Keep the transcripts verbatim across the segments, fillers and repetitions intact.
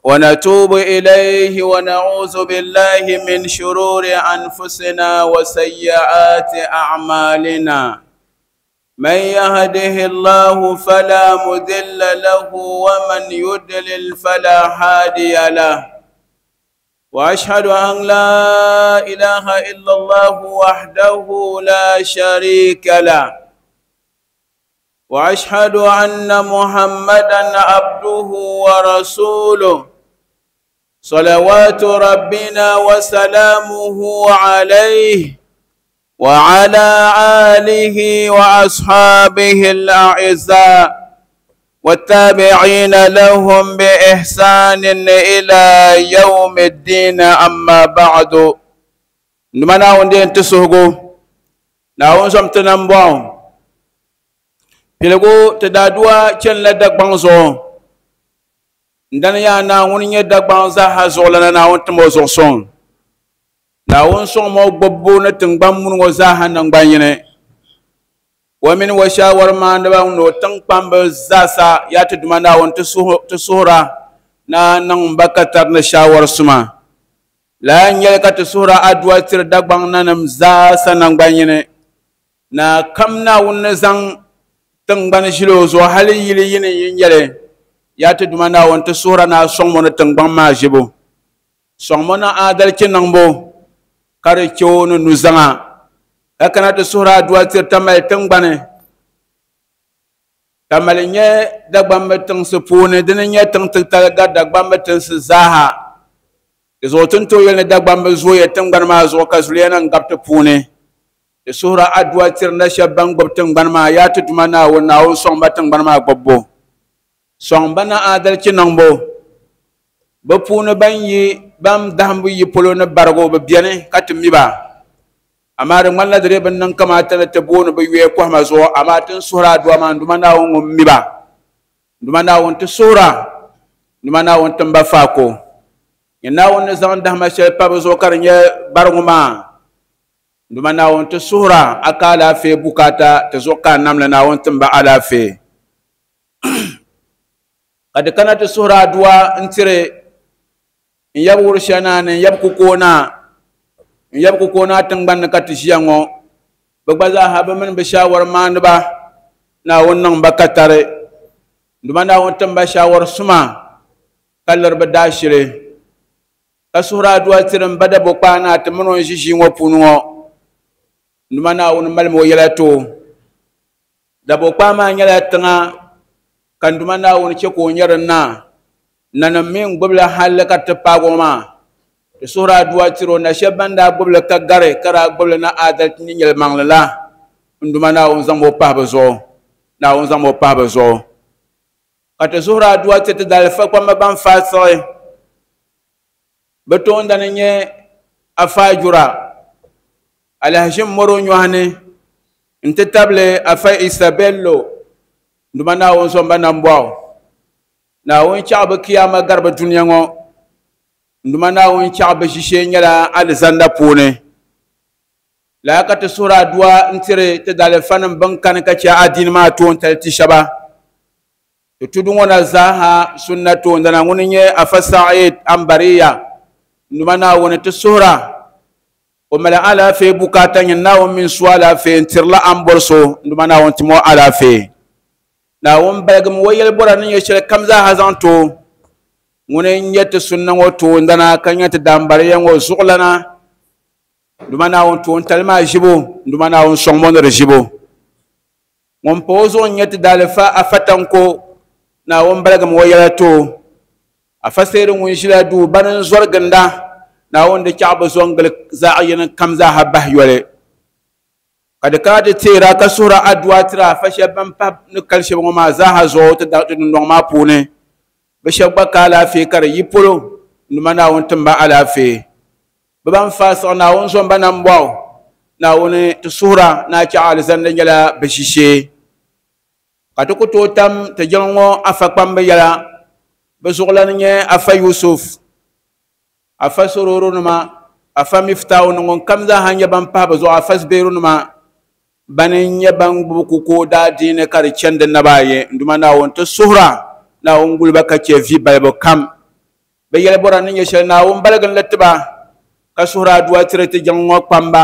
ونتوب إليه ونعوذ بالله من شرور أنفسنا وسيئات أعمالنا من يهده الله فلا مضل له ومن يضلل فلا هادي له وأشهد أن لا إله إلا الله وحده لا شريك له وأشهد أن محمدًا عبده ورسوله صلوات ربنا وسلامه عليه وعلى آله وأصحابه الأعزاء والتابعين لهم بإحسان إلى يوم الدين أما بعد نمنا وندين تسهقو ناون سمتنبون Piligu ti daadua chani la Dagbaŋ zuɣu n-dani yaa Naawuni nyɛ Dagbaŋ zaaha zuɣulana Naawuni tim o zuɣu suŋ Naawuni sɔŋmi o gbubbu ni tiŋgbani muni ŋɔ zaaha naŋgban yini o mini o shaawari maaniba ni o tiŋkpamba zaasa yaa ti Duuma Naawuni ti suhura na niŋ ba ka tari ni shaawari suma lala n-nyɛli ka ti suhura adua tiri Dagbaŋ nanim zaasa naŋgban yini na kam Naawuni ni zaŋ tiŋgbani ʒili o zuɣu hali yili yini yi nyɛli yaa ti Duuma Naawuni ti suhura na sɔŋmo ni tiŋgbani maa ʒibu sɔŋmo ni aadalichi niŋbu ka di che o ni nuzaŋa ka kana ti suhura adua tiri Tamale tiŋgbani Tamale nyɛ Dagbamba tiŋsi puuni dini nyɛ tiŋ titali gari Dagbamba tinsi zaaha di zuɣu ti ni tooi yɛli ni Dagbamba zooya tiŋgbani maa zuɣu ka zuliya nim gabi ti puuni ti suhura adua tiri na shɛba ban gbubi tiŋgbani maa yaa ti Duuma Naawuni Naawuni sɔŋ ba tiŋgbani maa gbubbu sɔŋ ba na aadalichi niŋbu bɛ puuni ban yi ban dahimbu yi polo ni barigu bɛ beni ka ti mi ba amaa di ŋmanila di dee bi niŋ kamaata ni ti booni bɛ yuya kɔhima zuɣu amaa ti ni suhuri adua maa Duuma Naawuni ŋun mi ba Duuma Naawuni ti suhura Duuma Naawuni tim ba faako nyɛ Naawuni ni zaŋ dahima shɛli pa bɛ zuɣu ka di nyɛ barigu maa Duuma Naawuni ti suhura a ka alaafee bukaata ti zuɣu ka a namli Naawuni tim ba alaafee ka di kana ti suhura adua n-tiri n yab wuri shɛli naa ni n yab kukoo naa n yab kukoo naa tiŋgbani ni ka ti ʒiya ŋɔ bɛ gba zaaha bɛ mini bɛ shaawari maaniba Naawuni niŋ ba katari Duuma Naawuni tim ba shaawari suma ka liri bɛ daashili ka suhura adua tiri n ba dabo kpaa naa ti mini o n ʒi ʒii ŋɔ puuni ŋɔ Duuma Naawuni malimi o yɛla ti o dabo kpaa maa nyɛla tiŋa ka Duuma Naawuni che ka o nyɛ din naa nanim mi n-gbubila halli ka ti paagi o maa ti suhuri adua tiri o na shɛba ban daa gbubili ka gari ka daa gbubili na aadalichi ni yɛlimaŋli la n Duuma Naawuni zaŋmi o pahi bɛ zuɣu Naawuni zaŋmi o pahi bɛ zuɣu ka ti suhuri adua tiri ti daalifa kpamba ban faai siɣi bɛ toondani nyɛ Afaajura Alhaji Moro nyɔhi ni n-ti tabili Afa Isa Bello Duuma Naawuni sɔŋ ba nambɔɣu Naawuni chaɣi bɛ kiyama gari bɛ dunia ŋɔ Duuma Naawuni chaɣi bɛ ʒishee nyɛla alizanda puuni lala ka ti suhuri adua n-tiri ti daalifanim bɛn kani ka che adiini maa toontali ti shɛba ti tudu ŋɔ na zaaha sunna toondana ŋuni nyɛ Afa Sa'id Ambariya Duuma Naawuni ti suhura o mali alaafee bukaata nyɛ Naawuni mini su alaafee n-tirila a ni bɔri so Duuma Naawuni timi o alaafee Naawuni baligimi o yɛlibɔra ni nyɛ shɛli kam zaaha zaŋ ti o ŋuni n-nyɛ ti sunna ŋɔ toondana ka nyɛ ti daambariya ŋɔ zuɣulana Duuma Naawuni toontali maa ʒibu Duuma Naawuni sɔŋmi o ni di ʒibu ŋun pa o zuɣu n-nyɛ ti daalifa Afa Tanko Naawuni baligimi o yɛla ti o Afa Seeri ŋun ʒila duu bani n-zɔri ginda Naawuni di chaɣi bɛ zo n-gili zaɣ yini kam zaaha bahi yoli ka di kana ti teera ka suhura adua tiri afa shɛba ban pahi ni kali shɛba ŋɔ maa zaaha zuɣu ti dundɔŋ maa puuni bɛ shɛba gba ka alaafee ka di yi polo Duuma Naawuni tim ba alaafee bɛ ban faai siɣi Naawuni zɔn ba nambɔɣu Naawuni ti suhura ni a chaɣi alizanda nyɛla bɛ ʒishee ka ti ku tooi tam ti jiŋli ŋɔ afa kpamba yɛla bɛ zuɣulana nyɛ Afa Yusuf Afa Sororo nima Afa Miftahu ni ŋun kam zaaha nyɛ ban pahi bɛ zuɣu Afa Zubairu nima bani n-nyɛ ban gbubi kukoo daadiini ka di chani di naba ayi Duuma Naawuni ti suhura Naawuni guli ba ka che vi balibu kam Bɛ yɛli bɔra ni nyɛ shɛli Naawuni baligi li tiba ka suhuri aduwa tiri ti jiŋ ŋɔ kpamba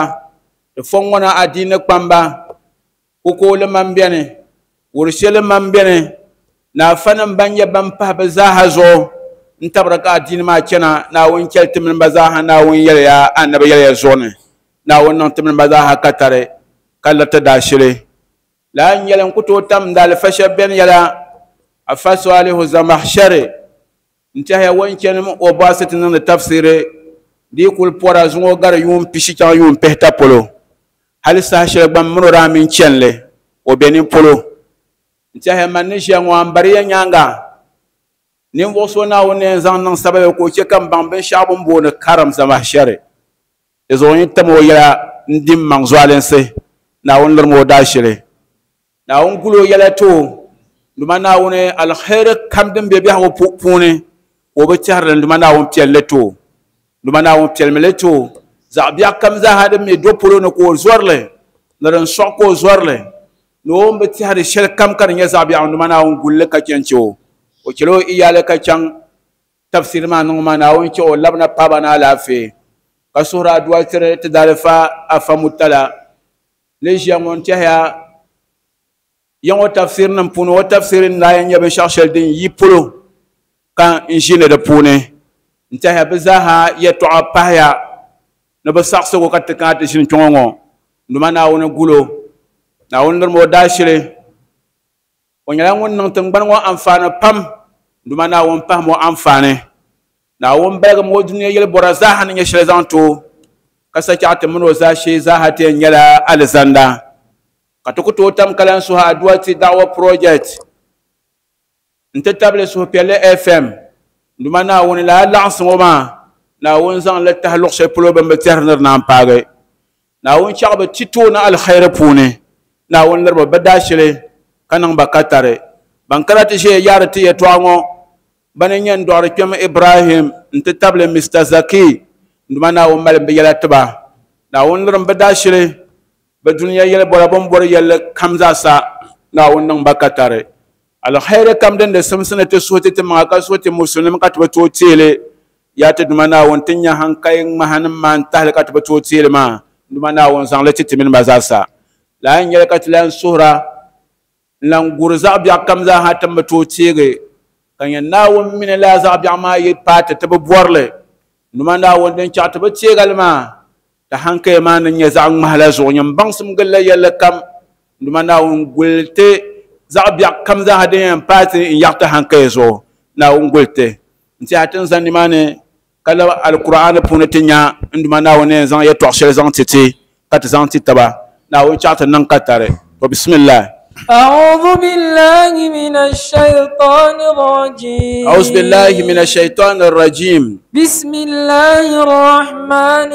ti fɔŋ ŋɔ na adiini kpamba kukooli man bɛni wurishɛli man bɛni naafanim ban nyɛ ban pahi bɛ zaaha zuɣu n tabiri ka adiini maa chana Naawuni chɛli ti mini ba zaaha Naawuni yɛliya annabi yɛliya zuɣu ni Naawuni niŋ ti mini ba zaaha katari ka liriti daashili laa n nyɛli n ku tooi tam daalifa shɛba bɛni yɛla afa Salihu Zamahshari n tɛhiya o ni chani o bɔɣisi ti niŋdi tafsiri di yi kuli pɔra zuŋɔ gari yuun pishi chaŋ yuun pihita polo hali saha shɛli gba m mini o daa mini chani o be nin polo n tɛhiya man ni ʒiya ŋɔ a ni bari ya nyaaŋa ninvuɣu so Naawuni ni yɛn zaŋ niŋ sababi ka o chɛ ka m baŋ binshɛɣu bɛ ni booni karim Zamahshari di zuɣu n yi tam o yɛla n di m maŋ zualinsi Naawuni lirimi o daashili Naawuni guli o yɛla ti o duma Naawuni alheri kam din be biɛhigu puuni ka o bi tɛhiri li duma Naawuni piɛlli li ti o duma Naawuni piɛlimi li ti o zaɣ biɛɣu kam zaaha din mi do polo ni ka o zɔri li ni din sɔɣi ka o zɔri li ni o ni bi tɛhiri shɛli kam ka di nyɛ zaɣ biɛɣu duma Naawuni guli li ka chɛ n-chɛ o o chɛla o iyaali ka chaŋ tafsiri maa niŋ maa Naawuni chɛ o labina paaba ni alaafee ka suhuri aduwa tiri ti daalifa afa mutala ni ʒiya ŋɔ n tɛhiya yaŋ o tafsiri nim puuni o tafsiri n daa yɛn nyɛ binshɛɣu shɛli din yi polo ka n ʒini di puuni n tɛhiya bɛ zaaha yɛtɔɣa pahiya ni bɛ saɣisigu ka ti kana ti ʒini kpɛŋɔ ŋɔ duma Naawuni gulo Naawuni lirimi o daashili o nyɛla ŋun niŋ tingbani ŋɔ anfaani pam duma Naawuni pahimi o anfaani Naawuni baligimi o dunia yɛli bɔra zaaha ni nyɛ shɛli zaŋ ti o ka sa chaɣ ti mini o zaashee zaaha ti yɛn nyɛla alizanda ka ti ku tooi tam ka lan suhi aduwa ti da'wa project n ti tabili suhupiɛlli F M duma Naawuni lala laɣinsi ŋɔ maa Naawuni zaŋ li tahi luɣ shɛli polo bɛn bi tɛhiri ni di naan paagi Naawuni chaɣ bi ti tooni alkhairi puuni Naawuni liriba bɛ daashili ka niŋ ba katari ban kana ti ʒiya yaari ti yɛtɔɣa ŋɔ bani nyɛ n dɔɣiri kpɛm Ibrahim n ti tabili Mister Zaki duma Naawuni mali bɛ yɛla tiba Naawuni lirim bɛ daashili bɛ dunia yɛli bɔra bɛ ni bɔri yɛlli kam zaasa Naawuni niŋ ba katari alkhairi kam din di simsi ni ti suhi ti ti maŋa ka suhi ti musulimi ka ti bi tooi teeli yaa ti duma Naawuni ti nya hankali ŋmahanim maa n tahili ka ti bi tooi teeli maa duma Naawuni zaŋli ti ti mini ba zaasa laa n nyɛli ka ti lan suhura n lan guri zaɣ biɛɣu kam zaaha ti ni bi tooi teegi ka nyɛ Naawuni mini laa zaɣ biɛɣu maa yi paai ti ti bi bɔrili duma Naawuni din chaɣ ti bi teegali maa ti hankali maa ni nyɛ zaɣ ŋmahi la zuɣu nyɛ baŋsim gilila yɛlli kam duma Naawuni guli ti zaɣ biɛɣu kam zaaha din yɛn paai ti n yaɣi ti hankali zuɣu Naawuni guli ti n tiɛha ti ni zani nimaani ka labi alkur'aani puuni ti nya n duma Naawuni yɛn zaŋ yɛtɔɣa shɛli zaŋ ti ti ka ti zaŋ ti taba Naawuni chaɣ ti niŋ katari to bismillah. أعوذ بالله من الشيطان الرجيم. أعوذ بالله من الشيطان الرجيم. بسم الله الرحمن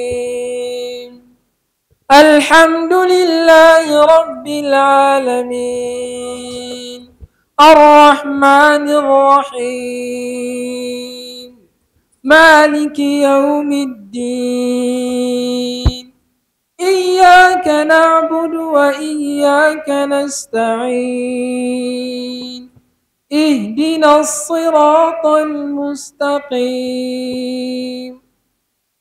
الرحيم. الحمد لله رب العالمين الرحمن الرحيم مالك يوم الدين إياك نعبد وإياك نستعين اهدنا الصراط المستقيم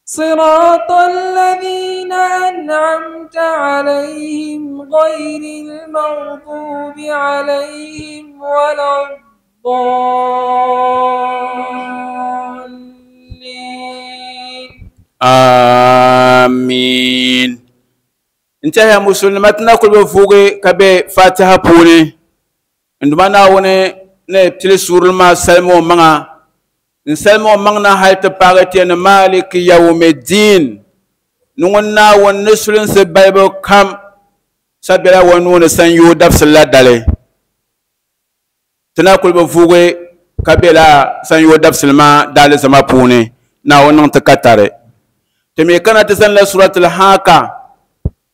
صراط الذين أنعمت عليهم غير المغضوب عليهم ولا الضالين. آمين. انتهى مسلمتنا كل بفوقي كبي فاتحة بوني عندما ناوني نبتلي سور ما سلمو منا نسلمو منا هاي تبارتي أن مالك يوم الدين نونا ونسلن سبايبو كم سبلا ونون سنيو دفس الله دالي تناكل بفوقي كبي لا سنيو دفس ما دالي سما بوني ناونن تكتاري تمي كانت تزن سورة الحاقة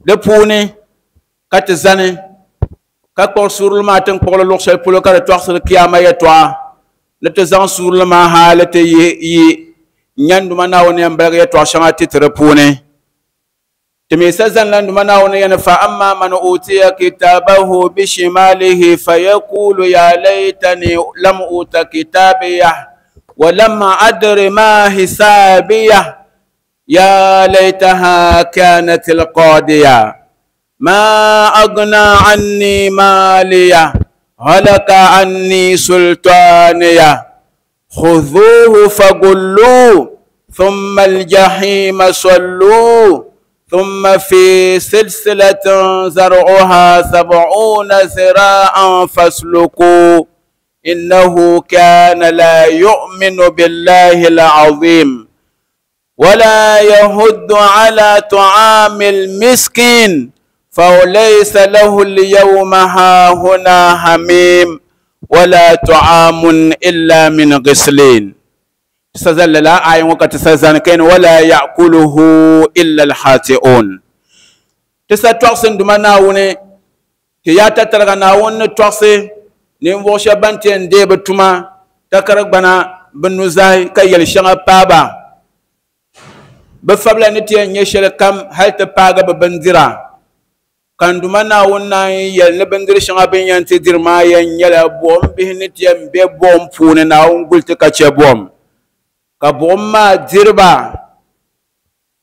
di puuni ka ti zani ka kpuɣi suurili maa ti ni kpuɣili luɣu shɛli polo ka di tɔɣisiri kiyama yɛltɔɣa ni ti zaŋ suurili maa hali ti yi yi nyanduma Naawuni yɛn baligi yɛltɔɣa shɛŋa ti ti di puuni ti mi sa zani la nduma Naawuni yɛn fa amma man utiya kitabahu bishimalihi fayaqulu ya laytani lam uta kitabiya ولم أدر ما حسابيه يا ليتها كانت القاضية ما أغنى عني مالية هلك عني سلطانية خذوه فغلوه ثم الجحيم صلوه ثم في سلسلة زرعها سبعون ذراعا فاسلكوه إنه كان لا يؤمن بالله العظيم ولا يهد على طعام المسكين فليس له اليوم هاهنا حميم ولا طعام إلا من غسلين تسزل لا آية وقت تسزل كين ولا يأكله إلا الحاتئون تسا دمنا كي تترغ ناون توقسي ninvuɣu shɛba ban ti yɛn deei bi tuma takari gbana bi nuzahi ka yɛli shɛŋa paaba bi fabila ni ti yɛn nyɛ shɛli kam hali ti paagi bi bindira ka n Duuma Naawuni naan yɛli ni bindiri shɛŋa bin yɛn ti diri maa yɛn nyɛla buɣum bihi ni ti yɛn be buɣum puuni Naawuni guli ti ka chɛ buɣum ka buɣum maa diriba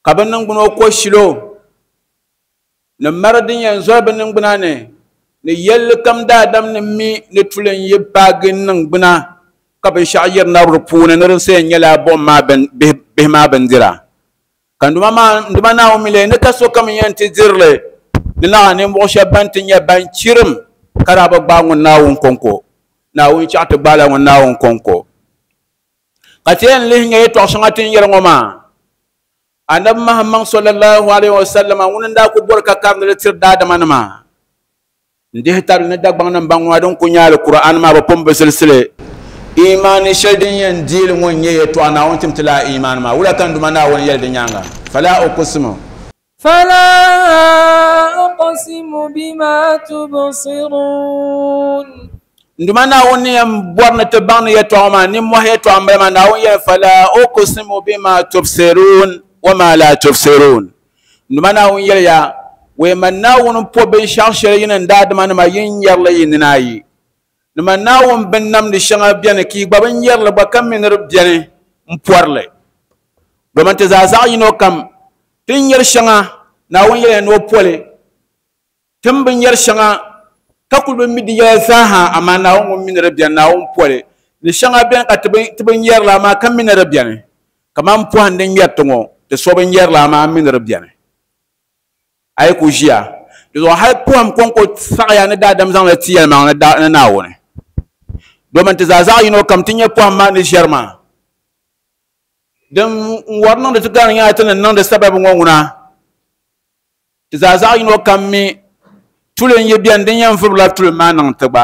ka bi niŋgbuna ko shilo ni mari din yɛn zɔri bi niŋgbuna ni ni yɛlli kam daadam ni mi ni tuli n yi paagi niŋgbuna ka binshaɣu yirina di puuni ni din yɛn nyɛla buɣum maa bihi maa bindira ka n Duuma Naawuni mi lee ni ka sokam yɛn ti dirili ni naɣa ninvuɣu shɛba ban ti nyɛ ban chirim ka daa bi gbaai ŋun Naawuni kɔŋko Naawuni chaɣ ti gbaala ŋun Naawuni kɔŋko ka ti yɛn lihi nyɛ yɛltɔɣa shɛŋa ti ni yɛli ŋɔ maa Anabi Muhammad sallallahu alaihi wasallam ŋuni n daa ku bɔri ka karindi li tiri daadama nima ndihi tabili ni Dagbaŋ nim baŋ ŋɔ din ku nyɛ Alkur'an maa bi pun bi silsili imaani shɛli din yɛn deeli ŋɔ n nyɛ yɛltɔɣa Naawuni tim ti laa imaani maa wula ka n Duuma Naawuni yɛli di nyaanga fala uqsimu فلا أقسم بما تبصرون n Duuma Naawuni yɛn bɔri ni ti baŋ ni yɛltɔɣa maa ninmɔhi yɛltɔɣa n bala maa Naawuni yɛli fala uqsimu bima tubsirun wa ma la tubsirun n Duuma Naawuni yɛli ya wai man Naawuni po binshɛɣu shɛli yini n daadama nima yin yɛrili yi nina ayi ni man Naawuni bin namdi shɛŋa bɛni ka yi gba bin yɛrili gba ka mi ni di bɛni n pɔrili domin ti zaa zaɣ yino kam tin yɛri shɛŋa Naawuni yɛliya ni o poli tin bin yɛri shɛŋa ka kuli bi mi di yɛla zaaha amaa Naawuni ŋun mi ni di bɛni Naawuni poli ni shɛŋa bɛni ka ti bin yɛrili amaa ka mi ni di bɛni kaman pɔhim din ŋmɛri ti ŋɔ ti so bin yɛrili amaa mi ni di bɛni a yi ku ʒiya di zuɣu hali pɔhim kɔŋko saɣaya ni daadam zaŋli ti yɛlimaŋ ni Naawuni domin ti zaa zaɣ yino kam ti nyɛ pɔhim maa ni ʒɛri maa din wari niŋdi ti gari nyɛla ti ni niŋdi sababi ŋɔ ŋuna ti zaa zaɣ yino kam mi tuli n yi bɛni din yɛn vurila tuli maa niŋ ti gba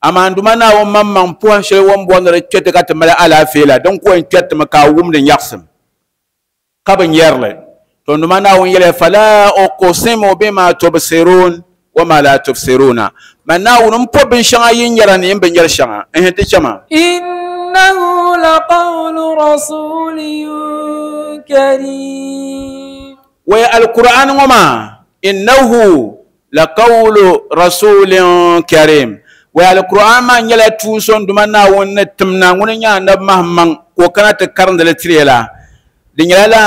amaa n Duuma Naawuni maŋmaŋ pɔhim shɛli o ni bɔri ni di kpɛ ti ka ti mali alaafee la din ko yɛn kpɛri ti mi ka a wumdi nyaɣasim ka bi nyɛrili to n Duuma Naawuni yɛliya fala uqsimu bima tubsirun wa ma la tubsiruna man Naawuni n po binshɛŋa yin nyɛra ni yin bi nyɛri shɛŋa n ti chɛma إنه لقول رسول كريم wai alkur'an ŋɔ maa innahu laqawlu rasulin karim wai alkur'an maa nyɛla tuun so n Duuma Naawuni ni timna ŋuni nyɛ anabi Muhammad ka o kana ti karindi li tiri la di nyɛla la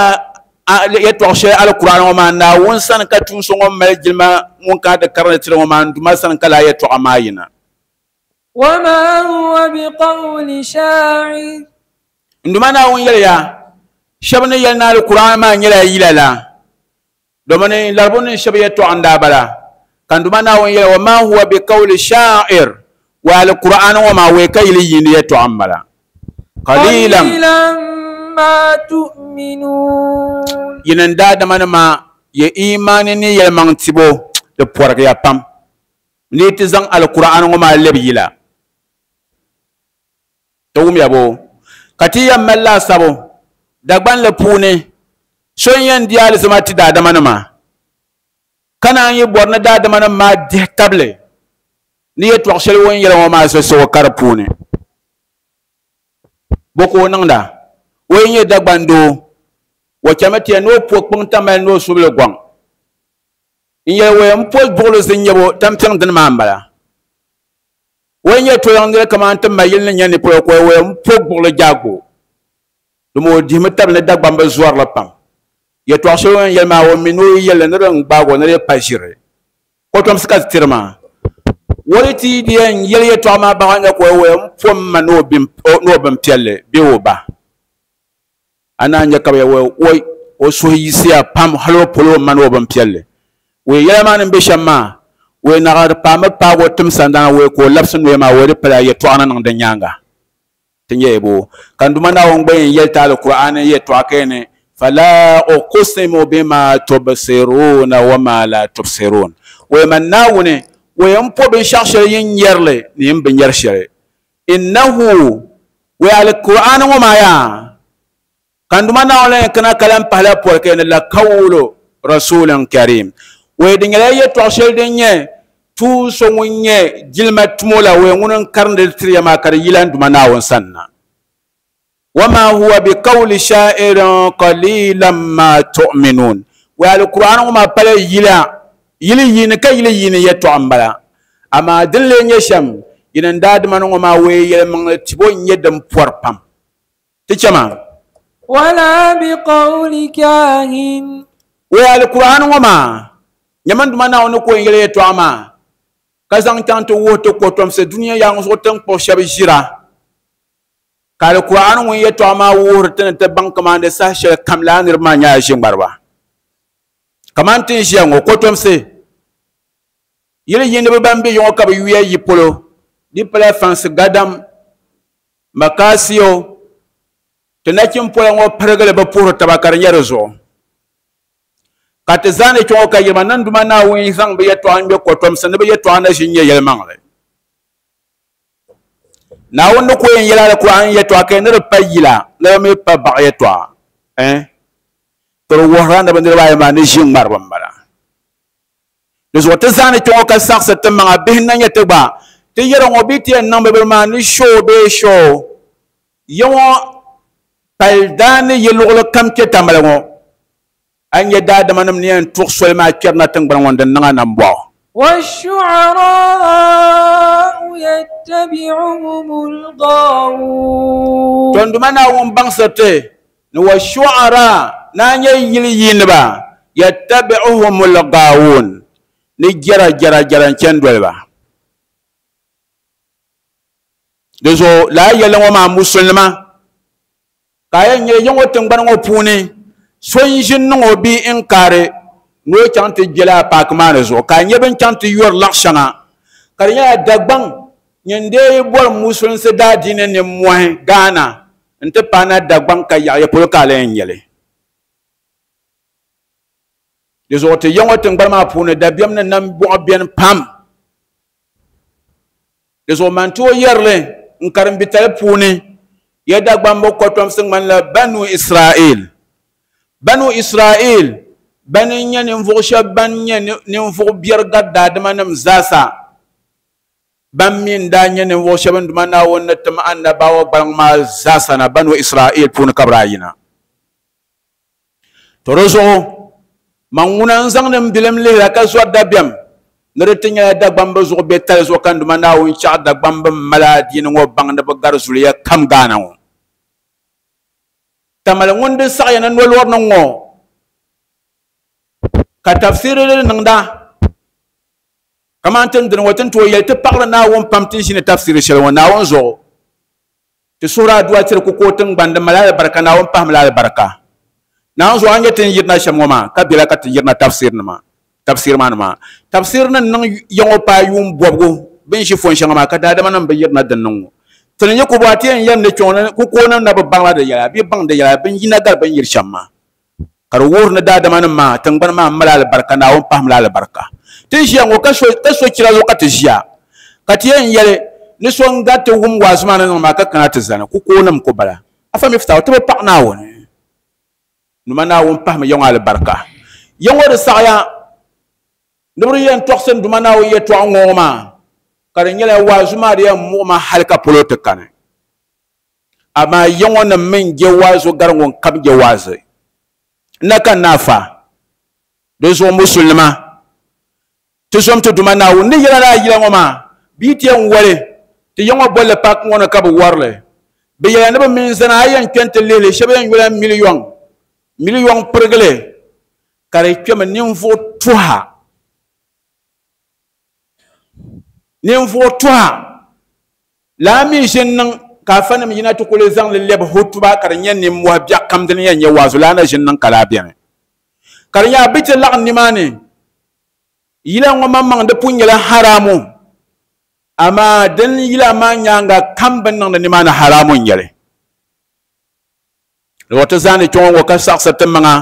yɛltɔɣa shɛli alkur'an ŋɔ maa Naawuni sani ka tuun so ŋɔ mali jilima ŋun kana ti karindi tiri ŋɔ maa n Duuma sani ka laa yɛltɔɣa maa yina وما هو بقول شاعر n Duuma Naawuni yɛliya shɛba ni yɛli ni alkur'an maa nyɛla yila la domin laribu ni shɛba yɛltɔɣa n daa bala ka n Duuma Naawuni yɛli wa ma huwa biqawli sha'ir wa alkur'an ŋɔ maa wei ka yili yiini yɛltɔɣa n bala qalilan ما تؤمنون yini n daadama nima ya imaani ni yɛlimaŋ tibo di pɔrigiya pam ni ti zaŋ alkur'an ŋɔ maa lebi yila ti wumya bo ka ti yɛn mali laasabu Dagbanli puuni so n yɛn di alizama ti daadama nima ka naan yi bɔri ni daadama nim maa dihi tabili ni yɛltɔɣa shɛli o ni yɛli ŋɔ maa sosogo ka di puuni bo ka o niŋda o yi nyɛ Dagban doo o chɛmi ti ya ni o po kpiŋ tamali ni o subili gɔŋ n yɛli waya n po buɣuli zinnyɛbo tampiŋ dini maa n bala o nyɛ toyaŋ kaman ti ma yili ni nyɛ ni polo ko o yɛn po gbuɣili jaago domi o dihimi tabi ni Dagbamba zɔrili pam yɛltɔɣa shɛli o ni yɛli maa o mi ni o yɛlli ni din gbaagi o ni di pa ʒiri kotomsi ka ti tiri maa o di ti di yɛn yɛli yɛltɔɣa maa baŋ nya ka o yɛn pom ma ni o bin piɛlli bee o ba a naan nyɛ ka bi yɛli o suhu yiɣisiya pam hali o polo o ma ni o bin piɛlli o yɛla maa ni bɛ shɛm maa o naɣa di paami paagi o tim sandana o ka o labisi noya maa o di pala yɛltɔɣa ni niŋ di nyaanga ti nyɛ bo ka n duma Naawuni gba yɛn yɛli ti Alkur'aani yɛltɔɣa ka ni fala uqsimu bima tubsiruna wa ma la tubsirun o man Naawuni o yɛn po binshɛɣu shɛli yin nyɛrili ni yin bi nyɛri shɛli innahu o Alkur'aani ŋɔ maa yaa ka n duma Naawuni yɛn kana kalan pahila pɔri ka ni la qawlu rasulin karim o di nyɛla yɛltɔɣa shɛli din nyɛ tuun so ŋun nyɛ jilima tumo la o ŋun n karindi tiriya maa ka di yila n duma Naawuni sanna wama huwa biqawli sha'irin qalilan ma tu'minun wa alqur'an ŋɔ maa pala yila yili yiini ka yili yiini yɛltɔɣa n bala amaa din lee nyɛ shɛm yini n daadama ni ŋɔ maa o yɛlimaŋli tibo n nyɛ din pɔri pam ti chɛma wala biqawli kahin o alqur'an ŋɔ maa nyɛma n duma Naawuni ko n yɛli yɛltɔɣa maa ka zaŋ chaŋ ti wuhi ti kotomsi dunia yaŋ zuɣu tin kpuɣi shɛba ʒira ka Alkur'aani ŋun yɛltɔɣa maa wuhiri ti ni ti baŋ kamani di saha shɛli kam laa niriba maa nyɛla ʒiŋmariba kamani ti ni ʒiya ŋɔ kotomsi yili yiiniba ban be yiŋɔ ka bi yuya yi polo di pala fansi gadam makaasiyo ti nachin pola ŋɔ pirigili bi puhiri taba ka di nyɛ di zuɣu ka ti zaani kpɛ ŋɔ ka yirima niŋ duma Naawuni zaŋ bi yɛltɔɣa n ŋmɛ kotomsi ni bi yɛltɔɣa na ʒi n nyɛ yɛlimaŋli Naawuni ni ko yɛn yɛli Alkur'aani yɛltɔɣa ka ni di pa yila ni di mi pa baɣa yɛltɔɣa eh ka di wuhirila ni bi niriba ayi maa ni ʒi ŋmariba n bala di zuɣu ti zaani kpɛ ŋɔ ka saɣasi ti maŋa bihi na nyɛ ti gba ti yɛri ŋɔ bee ti yɛn niŋ bi bini maa ni shoo bee shoo ya ŋɔ pali daa ni yi luɣuli kam kpɛ tamali ŋɔ a nyɛ daadama nim ni yɛn tuɣi soli maa kpɛrina tingbani ŋɔ din niŋa nambɔɣu والشعراء يتبعهم الغاوون to n duma Naawuni baŋsiri ti ni washu'ara na nyɛ yili yiiniba yattabi'uhum al-ghaawun ni jɛra jɛra jɛra n chɛni doliba di zuɣu lala yɛlli ŋɔ maa musulinima ka a yɛn nyɛ ya ŋɔ tingbani ŋɔ puuni so n ʒi niŋ o bia n kaari ni o chaŋ ti gbɛla a paaki maa ni zuɣu ka a nyɛ bin chaŋ ti yɔri laɣ shɛŋa ka di nyɛla Dagbaŋ nyin dee bɔri musulinsi daadiini nimmɔhi Ghana n ti paai na Dagbaŋ ka yaɣa ya polo ka a la yɛn nyɛli di zuɣu ti ya ŋɔ tingbani maa puuni dabiɛm ni nambɔɣu bɛni pam di zuɣu man ti o yɛrili n karimbitali puuni ya Dagbamba kotomsi ŋmanila Banu Israel Banu Israel bani n nyɛ ninvuɣu shɛba ban nyɛ ninvuɣu biɛri gari daadama nim zaasa ban mi n daa nyɛ ninvuɣu shɛba n duma Naawuni ni tim annabawa gbaliŋ maa zaasa na Banu Israel puuni ka bi daa yina to di zuɣu man ŋuna n zaŋdi n bilim lihira ka zɔri dabiɛm ni di ti nyɛla Dagbamba zuɣu bɛ tali zuɣu ka n duma Naawuni chaɣ Dagbamba mali adiini ŋɔ baŋ ni bi gari zuliya kam Ghana ŋɔ tamali ŋun di saɣaya ni nolɔri ni ŋɔ ka tafsiri li niŋda kamani tin dini ŋɔ tin tooi yɛli ti paɣiri Naawuni pam tin ʒini tafsiri shɛli ŋɔ Naawuni zuɣu ti suhuri aduwa tiri ku ka o tingbani di mali alibarika Naawuni pahimi la alibarika Naawuni zuɣu a nyɛ tin yirina shɛm ŋɔ maa ka bela ka ti yirina tafsiri nima tafsiri maa nima tafsiri ni niŋ ya ŋɔ paai yuun bɔbigu bin ʒi fon shɛŋa maa ka daadama nim bi yirina din niŋ ŋɔ tini nyɛ ku bɔ a ti yɛn yɛm ni kpɛ ŋɔ ni kukooni na bi baŋla di yɛla bee baŋ di yɛla bin yina gari bin yiri shɛm maa ka di wuhiri ni daadama nim maa tingbani maa mali alibarika Naawuni pahimi la alibarika ti ʒiya ŋɔ ka so chira zuɣu ka ti ʒiya ka ti yɛn yɛli ni so n gari ti wum waazu maa ni niŋ maa ka kana ti zani kukoonim ku bala afa mi fitawu ti bi paɣi Naawuni numa Naawuni pahimi ya ŋɔ alibarika ya ŋɔ di saɣaya ni bi yɛn tɔɣisi n duma Naawuni yɛltɔɣa ŋɔ maa ka di nyɛla waazu maa di yɛn muɣi ma hali ka polo ti kani amaa ya ŋɔ nim min je waazu gari ŋun kam je waazi n na ka n naafa di zuɣu musulinima ti zom ti duma Naawuni ni yɛla laa yila ŋɔ maa bia ti yɛn wali Ti yaŋɔ bolli paaki ŋɔ ni ka bi warili bi yɛla ni bi mini zana a yɛn kpɛ n-ti lihili shɛba yɛn yula miliyɔŋ miliyɔŋ pirigili ka di kpɛmi ninvuɣu tuha ninvuɣu tuha laa mi ʒini niŋ ka afanim yina ti kuli zaŋli lɛbi hutuba ka di nyɛ ninmohi biɛɣu kam dini yɛn nyɛ waazu laa na ʒini niŋ ka laa bɛni ka di nyɛ a bi ti laɣim nimaani yila ŋɔ maŋmaŋ di pun nyɛla haramu amaa din yila maa nyaanga kam bi niŋdi nimaani haramu n nyɛli di ti zaani kpɛŋɔ ŋɔ ka saɣasiri ti maŋa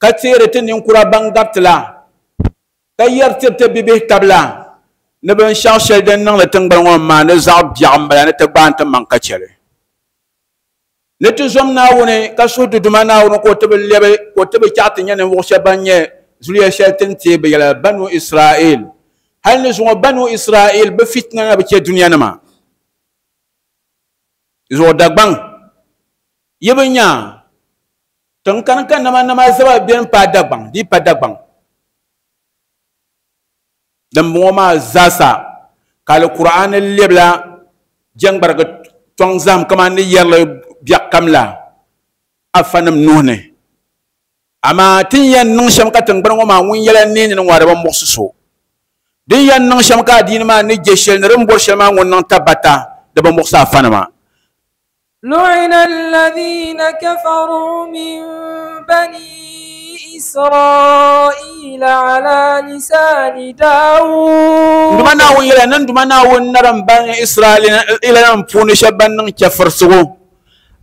ka teeri ti ninkura ban gariti la ka yɛri tiri ti bibihi tabila ni binshaɣu shɛli din niŋdi tingbani ŋɔ maa ni zaɣ biɛɣu n bala ni ti gbaai ti maŋ ka chɛli ni ti zom Naawuni ka suhu ti Duma Naawuni ka o ti bi lɛbi ka o ti bi chaɣ ti nyɛ ninvuɣu shɛba ban nyɛ zuliya shɛli ti ni teei bi yɛla Banu Israel hali ni zuŋɔ Banu Israel bi fitina na bi chɛ dunia nima zuɣu Dagbaŋ yi bi nya tiŋ kani ka nama nama zaba bɛni pa Dagbaŋ di pa Dagbaŋ din bɔŋɔ maa zaasa ka Alkur'aani lɛbila jɛŋgbarigi tɔŋ zaham kamani ni yɛrili biɛɣu kam la afanim nuhi ni amaa tin yɛn niŋ shɛm ka tingbani ŋɔ maa ŋun yɛla neeni ni ŋɔ di bi muɣisi so din yɛn niŋ shɛm ka adiini maa ni je shɛli ni din bɔri shɛli maa ŋun niŋ tabata di bi muɣisi afanima. لعن الذين كفروا من بني إسرائيل على لسان داود nduma naawuni yɛla ni nduma naawuni narim bani Israel nim puuni shɛba ban niŋ chɛfurisigu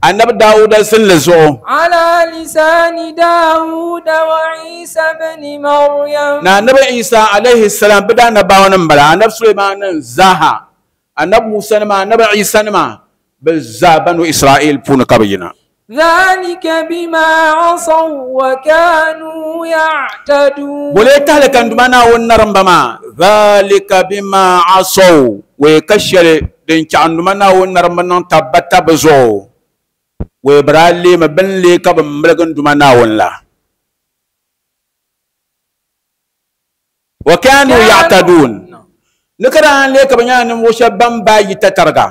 annabi Dawuda zinli zuɣu على لسان داود وعيسى بن مريم na annabi Isa alayhi salam bi daa annabawa nim bala annabi Sulaiman nim zaaha annabi Musa nima annabi Isa nima bi zaa Banu Israel puuni ka bi yina ذلك بما عصوا وكانوا يعتدون bole tahli kan duma naawuni narimba maa dhalika bima asaw wee ka shɛli din chaɣ duma naawuni narimba niŋ tabbata bi zuɣu wee bi daa leemi bini lee ka bi miligi n duma naawuni la wa kanu ya'tadun ni ka daa lee ka bi nyɛla ninvuɣu shɛba ban baa yi tatariga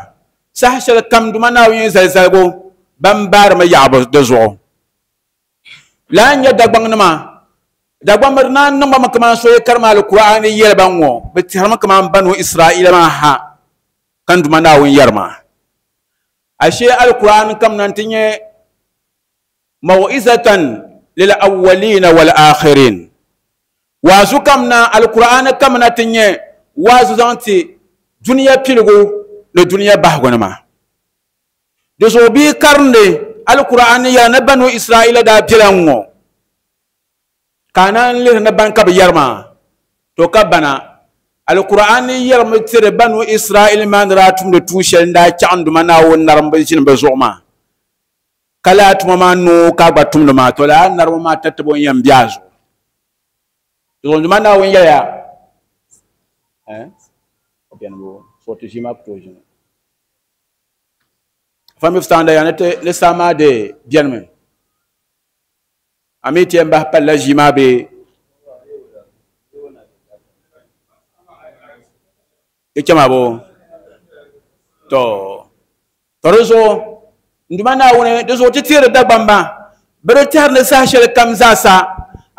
saha shɛli kam duma naawuni yɛn zali zaligu ban baarimi yaɣabu di zuɣu laa n nyɛ Dagbaŋ nima Dagbaŋ bi naan niŋba mi kamani so yi karima Alkur'aani yɛli ba ŋɔ bi tɛhirimi kamani Banu Israila maa ha ka n duma naawuni yɛri maa ashe Alkur'aani kam na ti nyɛ maw'izatan lil awwalina wal akhirin waazu kam na Alkur'aani kam na ti nyɛ waazu zaŋ ti duniya piligu ni duniya bahigu nima di zuɣu bia karindi Alkur'aani yɛla ni Banu Israila daa bela ŋɔ ka a naan lihiri ni ban ka bi yɛri maa to ka bana Alkur'aani yɛrimi tiri Banu Israel maa ni daa tumdi tuun shɛli n daa chaɣ n duma Naawuni narimba ʒini bi zuɣu maa ka laa tuma maa noo ka a gba tumdi maa to laa nariba maa tatabo n yɛn be a zuɣu di zuɣu n duma Naawuni yɛliya fa mi fitaanda ya ni ti ni saa maa de bɛnimi a mi ti yɛn bahi palila ʒii maa bee di chɛma bo to to di zuɣu n duma Naawuni di zuɣu ti teeri Dagbamba bi di tɛhiri ni saha shɛli kam zaasa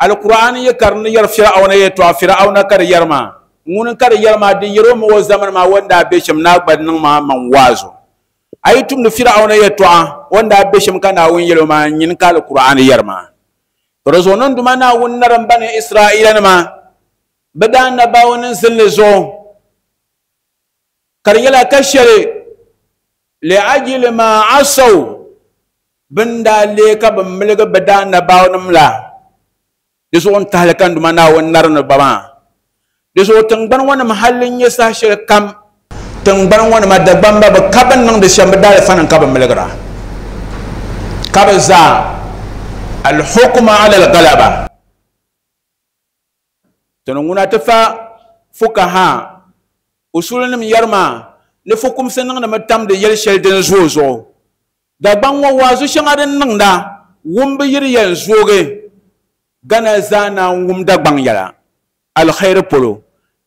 Alkur'aani yi karim ni yɛri Fir'auna yɛltɔɣa Fir'auna ka di yɛri maa ŋuni ka di yɛri maa di yɛri o mi o zamani maa o ni daa be shɛm naa gba niŋ maa maŋ waazu a yi tumdi Fir'auna yɛltɔɣa o ni daa be shɛm ka Naawuni yɛli o maa nyini ka Alkur'aani yɛri maa to di zuɣu ni n duma Naawuni narim bani Israila nima bi daa annabawa ni zinli zuɣu ka di nyɛla ka shɛli liajili ma asaw bin daa lee ka bi miligi bi daa annabawa nim la di zuɣu n tahali ka n duma Naawuni nari ni ba maa di zuɣu tingbani ŋɔ nim halli n nyɛ saha shɛli kam tingbani ŋɔ nima Dagbamba bi ka bin niŋdi shɛm bi daalifa nim ka bi miligira ka bi zaa alhukma ala algalaba tini ŋuna ti fa fukaha usuli nim yɛri maa ni fukumsi niŋdimi tamdi yɛli shɛli din zooi zuɣu Dagbaŋ ŋɔ waazu shɛŋa din niŋda wumbu yiri yɛn zoogi Gana zaa naan wum Dagbaŋ yɛla alkhairi polo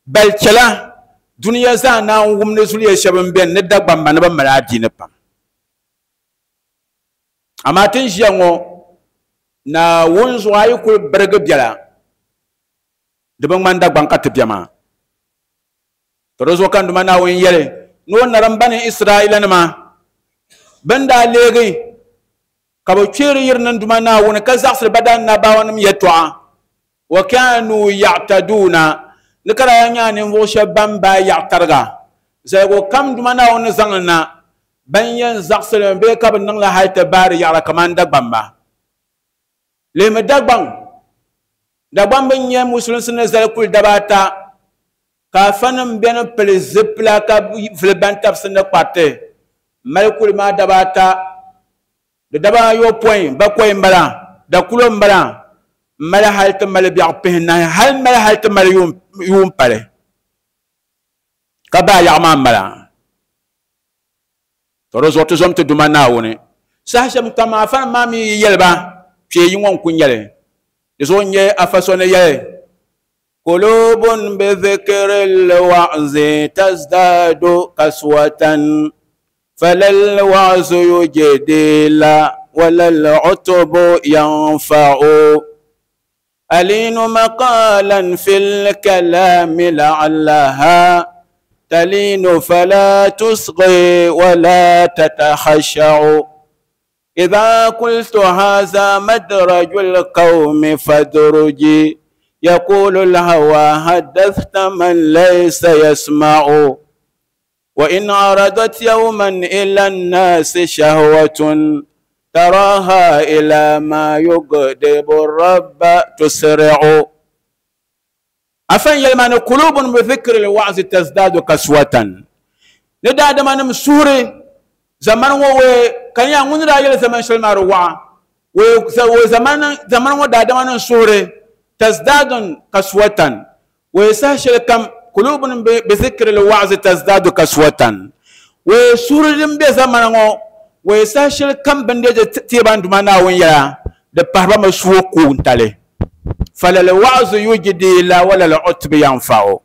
bal chɛla Duniya zaa naan wumni zuliya shɛba n-beni ni Dagbamba ni bɛ mali adiini pam. Amaa ti ni ʒiya ŋɔ, Naawuni zuɣu a yi kuli birigi biɛla, di bi ŋmani Dagbaŋ ka ti be maa. To di zuɣu ka n Duuma Naawuni yɛli ni o narim bani Israailanima bɛn daa leegi ka bɛ kpeeri yiri ni n Duuma Naawuni ka zaɣisiri ba daanabaawanim yɛtɔɣa. Wa kaanuu ya'taduuna, ni ka daa nyɛ ninvuɣ shɛba ban baai yaɣ tariga. Zaligu kam Duuma Naawuni ni zaŋ li na, ban yɛn zaɣisi li mi bee ka bɛ niŋ li hal ti baari yaɣiri kaman Dagbamba. Lihimi Dagbaŋ. Dagbamba n-nyɛ musulinsi ni zali kuli daba ata, ka afanim beni pili zipila ka vuli bantabisi ni kpariti mali kuli maa daba ata. Di daba ayopɔin bakɔi m-bala, dakulo m-bala, m-mali hal ti mali biɛɣu pihinahi, hal mali hal ti mali yuun pali, ka baai yaɣa maa m-bala. To di zuɣu ti zom ti Duuma Naawuni. Saha shɛm kam afanim maa mi yi yɛli ba, kpee yi ŋɔ n-ku nyɛli. Di zuɣu n-nyɛ afa so ni yɛli, Kulubun bi dhikri l-wa'zi tazdadu kaswatan, falal wa'zu yujdi la walal utubu yanfa'u. Alinu maqalan fil kalami la'allaha talinu fala tusghi wala tatakhasha'u. Idha qultu hadha madrajul qawmi fadruji, yaqulu al-hawa haddathta man laysa yasma'u. Wa in aradat yawman ila an-nasi shahwatun, taraha ila ma yughdibu ar-rabba tusri'u. Afan yɛlima ni kulubun bi dhikri al-wa'zi tazdadu kaswatan. Ni daadamanim suhuri zamani ŋɔ wee ka nya ŋun daa yɛli zaman shɛli maa di waɣa. Wee zamani ŋɔ daadamanim suhuri tazdadun kaswatan. Wee saha shɛli kam kulubun bi dhikri al-wa'zi tazdadu kaswatan. Wee suhuri din be zamani ŋɔ wee saha shɛli kam bɛn deei teeba n Duuma Naawuni yɛla di pahiriba mi suhu kuuntali. Falal wa'zu yujdi la walal utbi yanfa'u.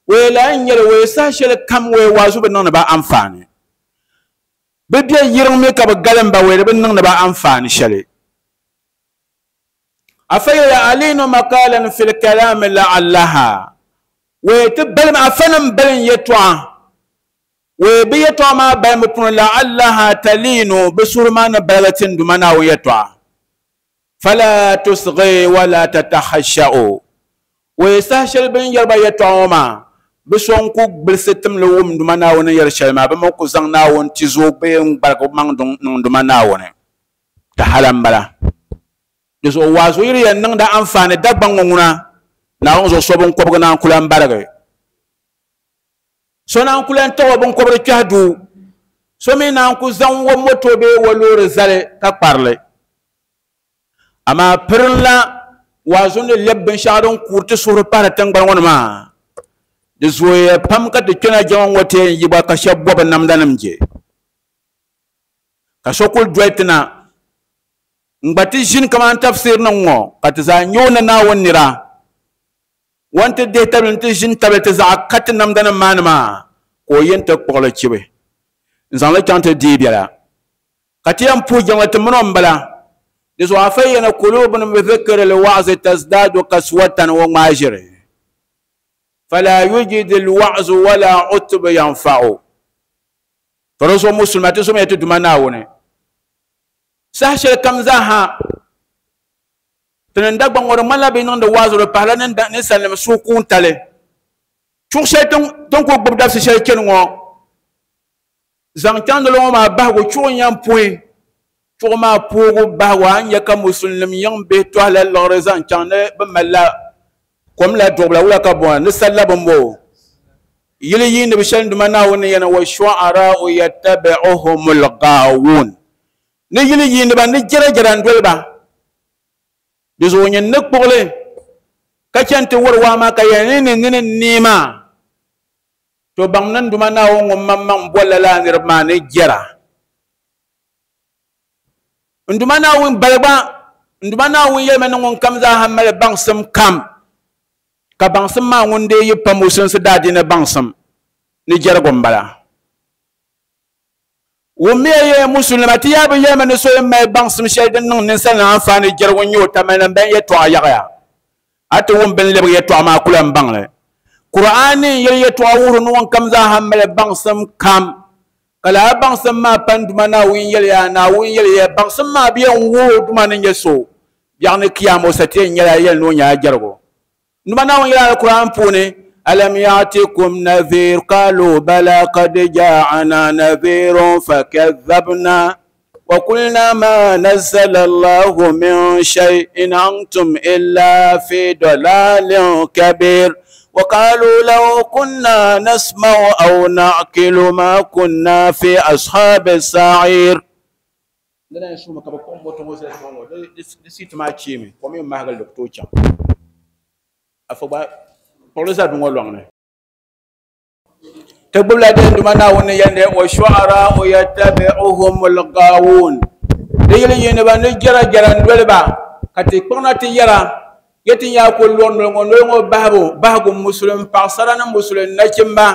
Wee la n-nyɛli wee saha shɛli kam wee waazu bi niŋdi ba anfaani. Bɛ be yiriŋ mi ka bɛ galim ba wee di bi niŋdi ba anfaani shɛli. Afa yɛli alinu maqalan fil kalami la'allaha. Wee ti balim afanim balim yɛtɔɣa. Wee bi yɛtɔɣa maa balimi puuni la'allaha talinu bi suhuri maa ni baligi ti n Duuma Naawuni yɛtɔɣa. Fala tusghi wala tatakhasha'u. Wee saha shɛli bɛ ni yɛri ba yɛtɔɣa ŋɔ maa, bɛ so n-ku gbilisi timli wum Duuma Naawuni ni yɛri shɛli maa, bɛ mi ku zaŋ Naawuni tizo bee n-gbaligi bɛ maŋ niŋ Duuma Naawuni. Ti hala m-bala. Di zuɣu waazu yiri yɛn niŋdi anfaani Dagbaŋ ŋɔ ŋuna, Naawuni zuɣu so binkɔbigu naan ku lan barigi. So naan ku lan taɣi o binkɔbiri kpɛhi duu. So mi naan ku zaŋ o moto bee o loori zali ka kparili. Amaa pirinla waazu ni lɛbi binshɛɣu din kuuri ti suhuri pahiri tiŋgbani ŋɔ ni maa, di zooya pam ka ti kpɛna jɛma ŋɔ ti yɛn yi gba ka shɛba bɔbi namdanim je. Ka so kuli doli ti na n-gba ti ʒini kamani tafsirinim ŋɔ ka ti zaa nya o ni Naawuni nira. O ni ti dihi tabili nti ʒini tabili ti zaɣa ka ti namdanim maa ni maa ka o yɛn ti kpuɣili chibi n-zaŋ li chaŋ ti deei biɛla. Ka ti yɛn puhi jiŋli ti mini o m-bala. Di zuɣu afa yɛni kulubun bi dhikri l-wa'zi tazdadu kaswatan wa ŋmaa ʒiri. Fala yujidi l-wa'zu wala utbu yanfa'u. To di zuɣu musulima ti zomiya ti Duuma Naawuni. Saha shɛli kam zaaha ti ni Dagbaŋ ŋɔ di ŋmanila bɛ niŋdi waazu di pahila ninsalinima suhu kuuntali. Chuɣu shɛli tin ku gbubi dabisi shɛli chani ŋɔ zaŋ chaŋ di ŋɔ maa bahigu chuɣu n-yɛn puhi. Chuɣu maa puhigu bahigu a ni nya ka musulinim yiŋ bihi tɔhila liɣiri zaŋ chaŋ ni bɛ malila kom la duɣubila wula ka bɔŋɔ ni salla bimbo. Yili yiini bi shɛli Duuma Naawuni ni yɛni wa shu'ara'u yattabi'uhumul ghaawun. Ni yili yiini ba ni jɛrajɛra n-doli ba. Di zuɣu nyin ni kpuɣili ka chani ti wari waa maa ka yɛli ni ni nini n-neei maa. To baŋ ni n Duuma Naawuni ŋun maŋmaŋ bolila lala niriba maa ni jɛra. N Duuma Naawuni baligba, n Duuma Naawuni yɛlimi ni ŋun kam zaaha mali baŋsim kam, ka baŋsim maa ŋun dee yi pa musulinsi daadiini baŋsim. ni jɛrigu n-bala wummiya ye musulima ti yaa bi yɛlimi ni so yɛn mali baŋsim shɛli din niŋ ninsalinima anfaani jɛrigu n-nyɛ o tamali ban yɛltɔɣa yaɣiya a ti wum bini lebigi yɛltɔɣa maa kula n baŋli Qur'ani n yɛli yɛltɔɣa wuhiri ni ŋun kam zaaha mali baŋsim kam ka lala baŋsim maa pa n duma Naawuni yɛliya Naawuni yɛliya baŋsim maa bi yɛn wuhi o duma ni nyɛ so biɛɣu ni kiyama o sa ti yɛn nyɛla yɛli ni o nyɛla jɛrigu n duma Naawuni yɛli Al-Qur'an puuni alam ya'tikum nadhir qalu bala qad ja'ana nadhirun fakadhabna wa qulna ma nazzala Allahu min shay'in antum illa fi dalalin kabir وقالوا لو كنا نسمع أو نعقل ما كنا في أصحاب السعير لنا نشوف ما كبكم بوتو نسيت ما تشيمي كم يوم ما هقول دكتور تشام أفبا بوليس أدمو لونه تقول لدين دمنا ونيند والشعراء يتبعهم الغاوون ديلي ينبا نجرا جرا ندولبا كتي كنا تيرا yeti ya ko lon ŋɔ noli ŋɔ bahibu bahigu musulin paɣasara ni musulin nachimba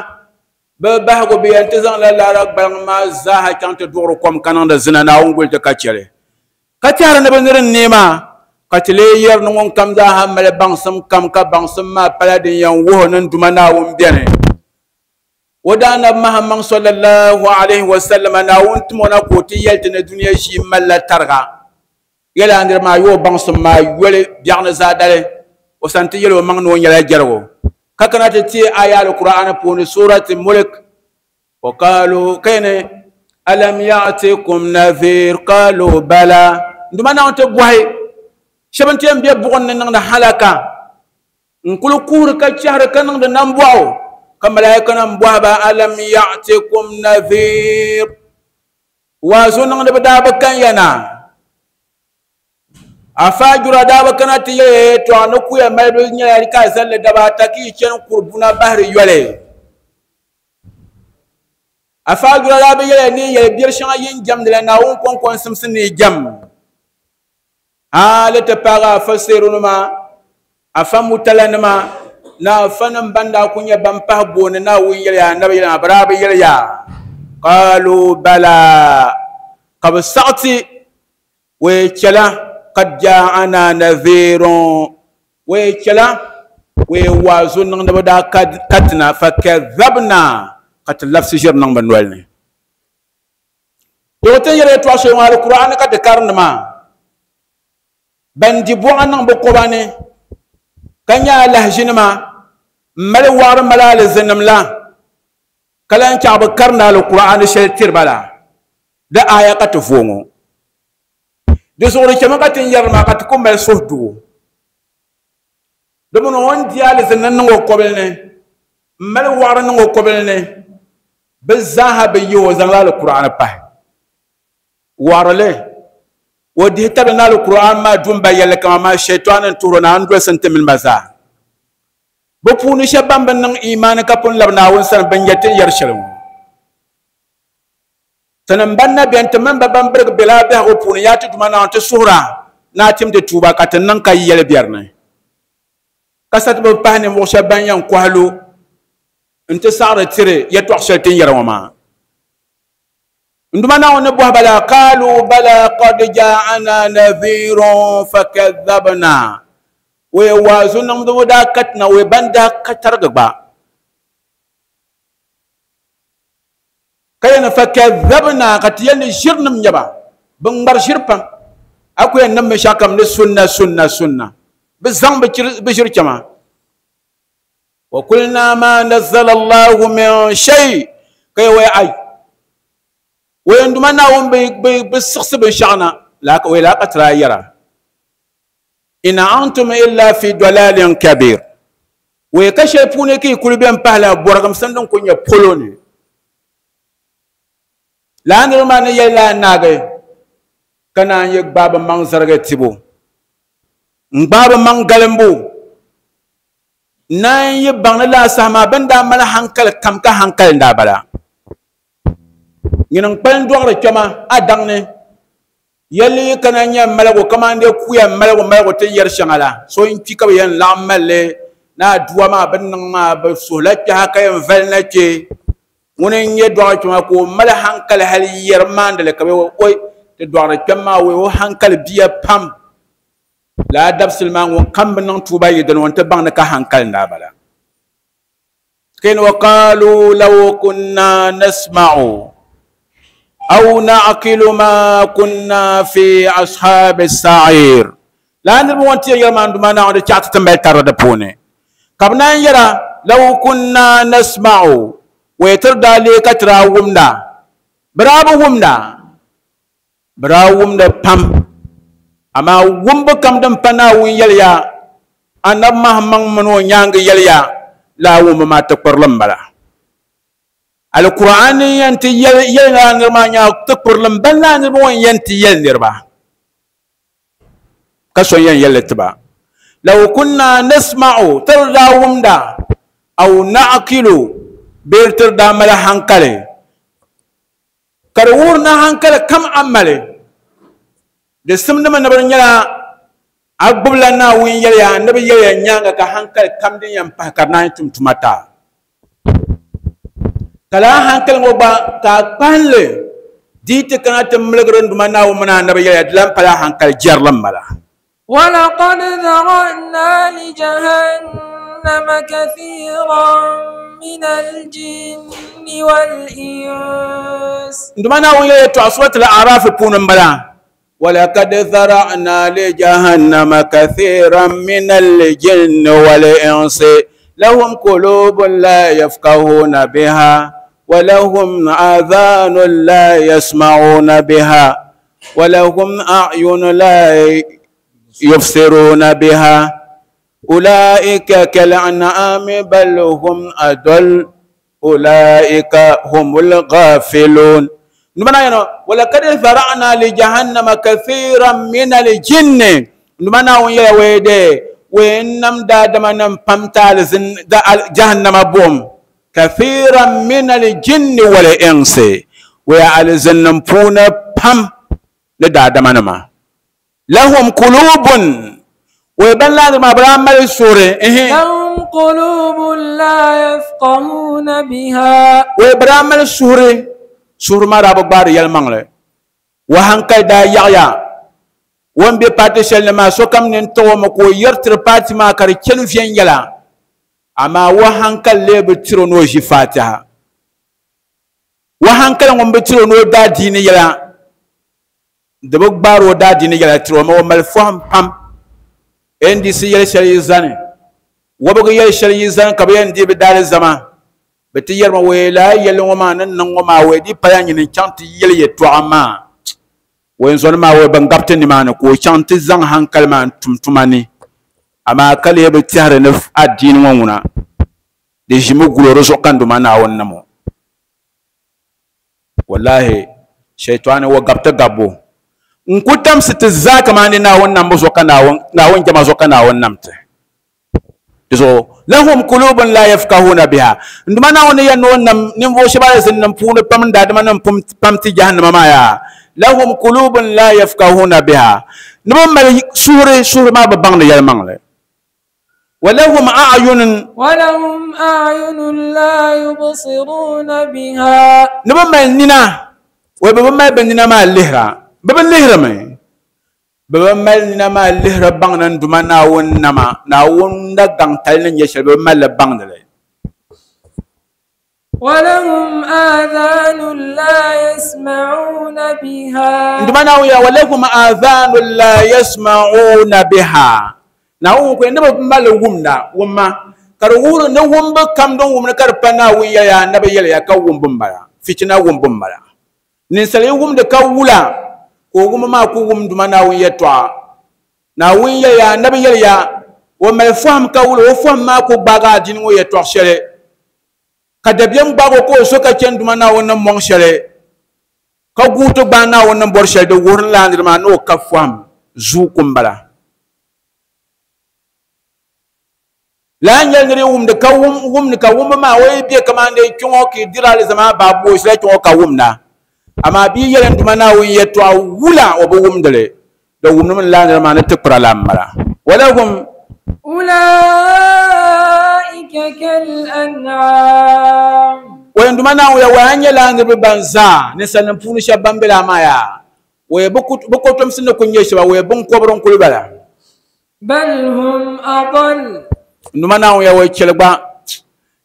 bi bahigu bi yɛn ti zaŋla laara gbaliŋ maa zaaha chaŋ ti duɣuri kom ka niŋdi zina Naawuni guli ti ka chɛli ka tɛhiri ni bi niri neema ka ti lee yɛri ni ŋun kam zaaha mali baŋsim kam ka baŋsim maa pala din yɛn wuhi ni duma Naawuni bɛni o daa nabi Muhammad sallallahu alaihi wa sallam Naawuni timo na ka o ti yɛli ti ni duniya ʒii malila tariga yɛla niriba maa yoo baŋsim maa yoli biɛɣu ni zaadali o san ti yɛli o maŋ ni o nyɛla jɛrigu ka kana ti ti aya al-Qur'an puuni surati Mulk wa qalu kayni alam ya'tikum nadhir qalu bala nduma Naawuni ti bɔhi shɛba n ti yɛn be buɣim ni niŋdi halaka n kuli kuhiri ka chɛhiri ka niŋdi nambɔɣu ka malaika nim bɔhi ba alam ya'tikum nadhir waazu niŋdi bi daa bi kan ya na afajura daa bi kana ti yɛli tɔɣa ni kuya malibu nyɛla ka zalli daba ata ka yi chani kuribuna bahiri yoli afajura daa bi yɛli ni yɛli biɛri shɛŋa yin jɛmdi la Naawuni kɔŋko n simsi ni jɛm hali ti paagi afa seeronima afa mutalanima na afa nim ban daa ku nyɛ ban pahi booni Naawuni yɛliya anabi yɛliya bi daa bi yɛliya qalu bala ka bi saɣati wee chɛla قد جاءنا نذير ويكلا ويوازن نبدا كتنا فكذبنا قد لفس جر نغ بنولني تو تن يري تو شي القران قد كارن ما بندي بو ان بقباني كنيا لهجن ما مل وار ملال زنم لا كلان كعب كرنا القران شل تربلا ده آية قد فومو di zuɣuri chɛmi ka ti n yɛri maa ka ti ku mali suhudugu di mini o ni di alizini niŋ o kɔbili ni n mali waɣari niŋ o kɔbili ni bi zaaha bi yi o zaŋla Al-Qur'an pahi waɣarili o dihi tabili ni Al-Qur'an maa dum ba yɛlli kama maa shɛtɔni n tuhiri na n dolisi n ti mini ba zaa bi puuni shɛba ban bi niŋ imaani ka pun labi Naawuni sani bin nyɛ ti ni yɛri shɛli ŋɔ tinim ban na bɛni ti mini ba ban birigi bela biɛhigu puuni yaa ti duma Naawuni ti suhura ni a tim ti tuuba ka ti niŋ ka yi yɛli biɛri ni ka sa ti bi pahi ninvuɣu shɛba ban yɛn kɔhi lu n ti saɣari tiri yɛltɔɣa shɛli ti ni yɛri ŋɔ maa n duma Naawuni ni bɔhi ba la qaalu bala qad ja'ana nadhirun fakadhabna wee waazu niŋdibu daa katina wee ban daa ka tarigi gba kayana fakadhabna ka ti yɛli ni ʒirinim nyɛba bi ŋmari ʒiri pam a ku yɛn niŋ binshɛɣu kam ni sunna sunna sunna bi zaŋ bi ʒiri chɛma wa qulna ma nazzala Allahu min shay ka yɛ wai ai wai nduma Naawuni bi siɣisi binshɛɣu na wai laa ka tira yɛra in antum illa fi dalalin kabir wai ka shɛli puuni ka yi kuli bɛn pahila bɔrigimsim din ku nyɛ polo ni laa niriba maa ni yɛli laa naagi ka naan yi gbaai bi maŋ zarigi tibu n gbaai bi maŋ galimbu naan yi baŋ ni laa saha maa bin daa mali hankali kam ka hankali n daa bala nyini n kpali dɔɣiri kpɛma a daŋ ni yɛlli yi kana nyɛ maligu kamani dee kuya maligu maligu ti yɛri shɛŋa la so n kpi ka bi yɛn laɣim malli ni aduwa maa bi niŋ maa bi suhula kpɛha ka yɛn vali na kpɛ Ŋuni n-nyɛ dɔɣi kpɛma ka o mali hankali hali yɛri maandili ka bɛ oi ti dɔɣiri kpɛm maa wei o hankali bia pam laa dabisili maa ŋun kam bi niŋ tuuba yi dini ŋun ti baŋ ni ka hankali n-daa bala kin wa qaalu law kunna nasma'u aw na'qilu ma kunna fi ashabi as-sa'ir laa niriba ŋun ti yɛli maa n-duma Naawuni di chaɣ ti ti mali tarili di puuni ka bɛ naan yɛra law kunna nasma'u wei tiri daa lee ka ti daa wumda bɛ daa bi wumda bɛ daa wumda pam amaa wumbu kam din pa Naawuni yɛliya anabi Mahammaŋ mini o nyaangi yɛliya laa wumbu maa tikpirili m-bala Alkur'an yɛn ti yɛli yɛli laa niriba maa nyaa tikpirili m-bala laa niriba ŋɔ yɛn ti yɛli niriba ka so yɛn yɛli tiba law kunna nasma'u tiri daa wumda aw na'qilu bee tiri daa mali hankali ka di wuhiri ni hankali kam a mali di simdimi ni bi nyɛla a gbubila Naawuni yɛliya anabi yɛliya nyaanga ka hankali kam din yɛn pahi ka di naan tum tuma taa ka laa hankali ŋɔ gba ka a kpahinli di ti kana ti miligiri n duma Naawuni mini anabi yɛliya di lan pala hankali jɛrili m-bala. ولقد ذرأنا لجهنم كثيرا من الجن والإنس nduma Naawuni yɛliya tɔɣa suratul A'raf puuni m-bala ولقد ذرأنا لجهنم كثيرا من الجن والإنس لهم قلوب لا يفقهون بها ولهم آذان لا يسمعون بها ولهم أعين لا يبصرون بها أولئك كالأنعام بل هم أضل أولئك هم الغافلون. ولقد ذرأنا لجهنم كثيرا من الجن نمنا ويا ويدي وإنم دادما نم جهنم بوم كثيرا من الجن والإنس ويا الزن بونا بام لدادما نما لهم قلوب ويبان لازم أبرام السورة لهم قلوب لا يفقهون بها ويبرام السورة suhuri maa daa bi gbaari yɛlimaŋli wa hankali daa yaɣaya o ni be paati shɛli ni maa sokam nini tiɣi o mi ka o yɛri tiri paati maa ka di chani viɛnyɛla amaa wa hankali lee bi tiri o ni o ʒi faatiha wa hankali ŋun bi tiri o ni o daa diini yɛla di bi gbaari o daa diini yɛla tiri o mi o mali fɔhim pam N D C yɛli shɛli yi zani wɔbigu yɛli shɛli yi zani ka bi yɛn dii bi daali zama bɛ ti yɛrimi wei laa yɛlli ŋɔ maa ni niŋ ŋɔ maa wei di pala nyini n-chaŋ ti yɛli yɛltɔɣa maa wei zɔni maa wei ban gabiti nimaani ka o chaŋ ti zaŋ hankali maa n-tum tuma ni amaa ka lee bi tɛhiri ni adiini ŋɔ ŋuna di ʒimi guli o di zuɣu ka n duma Naawuni nam o wallahi shaitani wa gabiti gabbo n ku tamsi ti zaa kamani Naawuni nambu zuɣu ka Naawuni jɛma zuɣu ka Naawuni nam ti so lahum qulubun la yafqahuna biha nduma Naawuni yɛn ni o nam ninvuɣu shɛba alizin puuni pam n daadama nim pam ti jahannama maa yaa lahum qulubun la yafqahuna biha ni bi mali suhuri suhuri maa bi baŋdi yɛlimaŋli wa lahum a'yunun wa lahum a'yunun la yubsiruna biha ni bi mali nina wa bi bi mali bi nina maa lihira bi bi lihirimi bi bi mali nina maa lihiri baŋdi n duma Naawuni nama Naawuni na gaŋ tali ni nyɛ shɛli bi bi mali li baŋdi li ولهم آذان لا يسمعون بها nduma Naawuni ya ولهم آذان لا يسمعون بها Naawuni ko ni bi mali wumda wumma ka di wuhiri ni wumbu kam din wumdi ka di pa Naawuni yɛliya anabi yɛliya ka wumbu m-bala fitina wumbu m-bala ninsal yi wumdi ka wula ka o wumbu maa ku wum duma Naawuni yɛltɔɣa Naawuni yɛliya anabi yɛliya o mali fɔhim ka wula o fɔhim maa ku gbaagi adiini ŋɔ yɛltɔɣa shɛli ka dabiɛm gbaagi o ka o so ka chani duma Naawuni ni mɔŋ shɛli ka guui ti gbaai Naawuni ni bɔri shɛli di wuhiri laa niri maa ni o ka fɔhim zuuku m-bala laa nyɛli niri wumdi ka wumdi ka wumbu maa o yi be kamani kpiɔŋɔ ka yi diri alizama baabu o shila kpiɔŋɔ ka wumda amaa bia yɛli n duma Naawuni yɛltɔɣa wula o bi wumdili di wumdimi laa niri maa ni tikpira la m-bala walahum أولئك كالأنعام Waynduma na ya wanya la niriba banza ni sanin punu shabban bila maya way bukotom sinne kunye shaba way bun kobron kulbala bal hum adall nduma na ya way chelba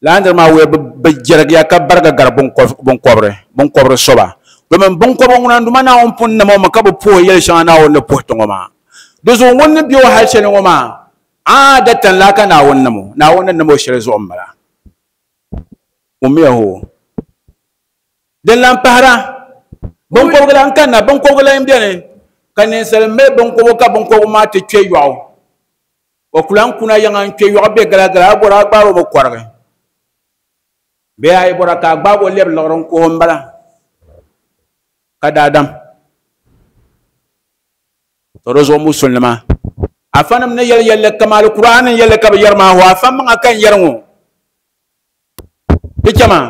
la ndir ma way be jerg ya ka barga gar bun bun kobre bun kobre soba domin bun kobron nguna nduma na on pun na mo ka bu po yel shana na on po to ngoma dozo won biyo hal shene ngoma adatan la kana won namo na won namo shere zo mala umiyaho den lampara bon ko gala kan na bon ko gala imbiane kan sel me bon ko ka bon ko ma te che yaw o kulan kuna yanga che yaw be gala gala bora gbaro mo kwarge be ay bora ka gbabo leb loron ko mbala kada adam torozo musulma afanam ne yel yel kamal qur'an yel ka yarma wa afam kan yarmo بكما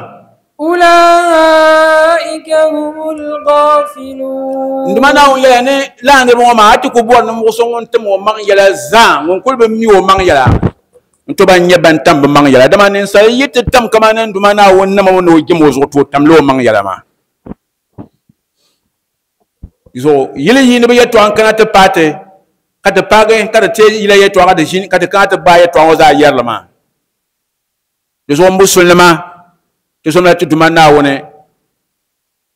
أولئك هم الغافلون عندما ناو يعني لا نبغى ما أتكبر نمغصون تم ومان يلا زان ونقول بمي ومان يلا أنتوا بني بنتم بمان يلا دما ننسى يتتم كمان عندما ناو نما ونوجي موزوتو تم لو مان يلا ما يزو يلي ينبي يتوان كنا تباتي كتباعي كتتي يلي يتوان كتجين كتكات باي يتوان وزا يلا ما يزو مسلمة تسمى تدمنا ونه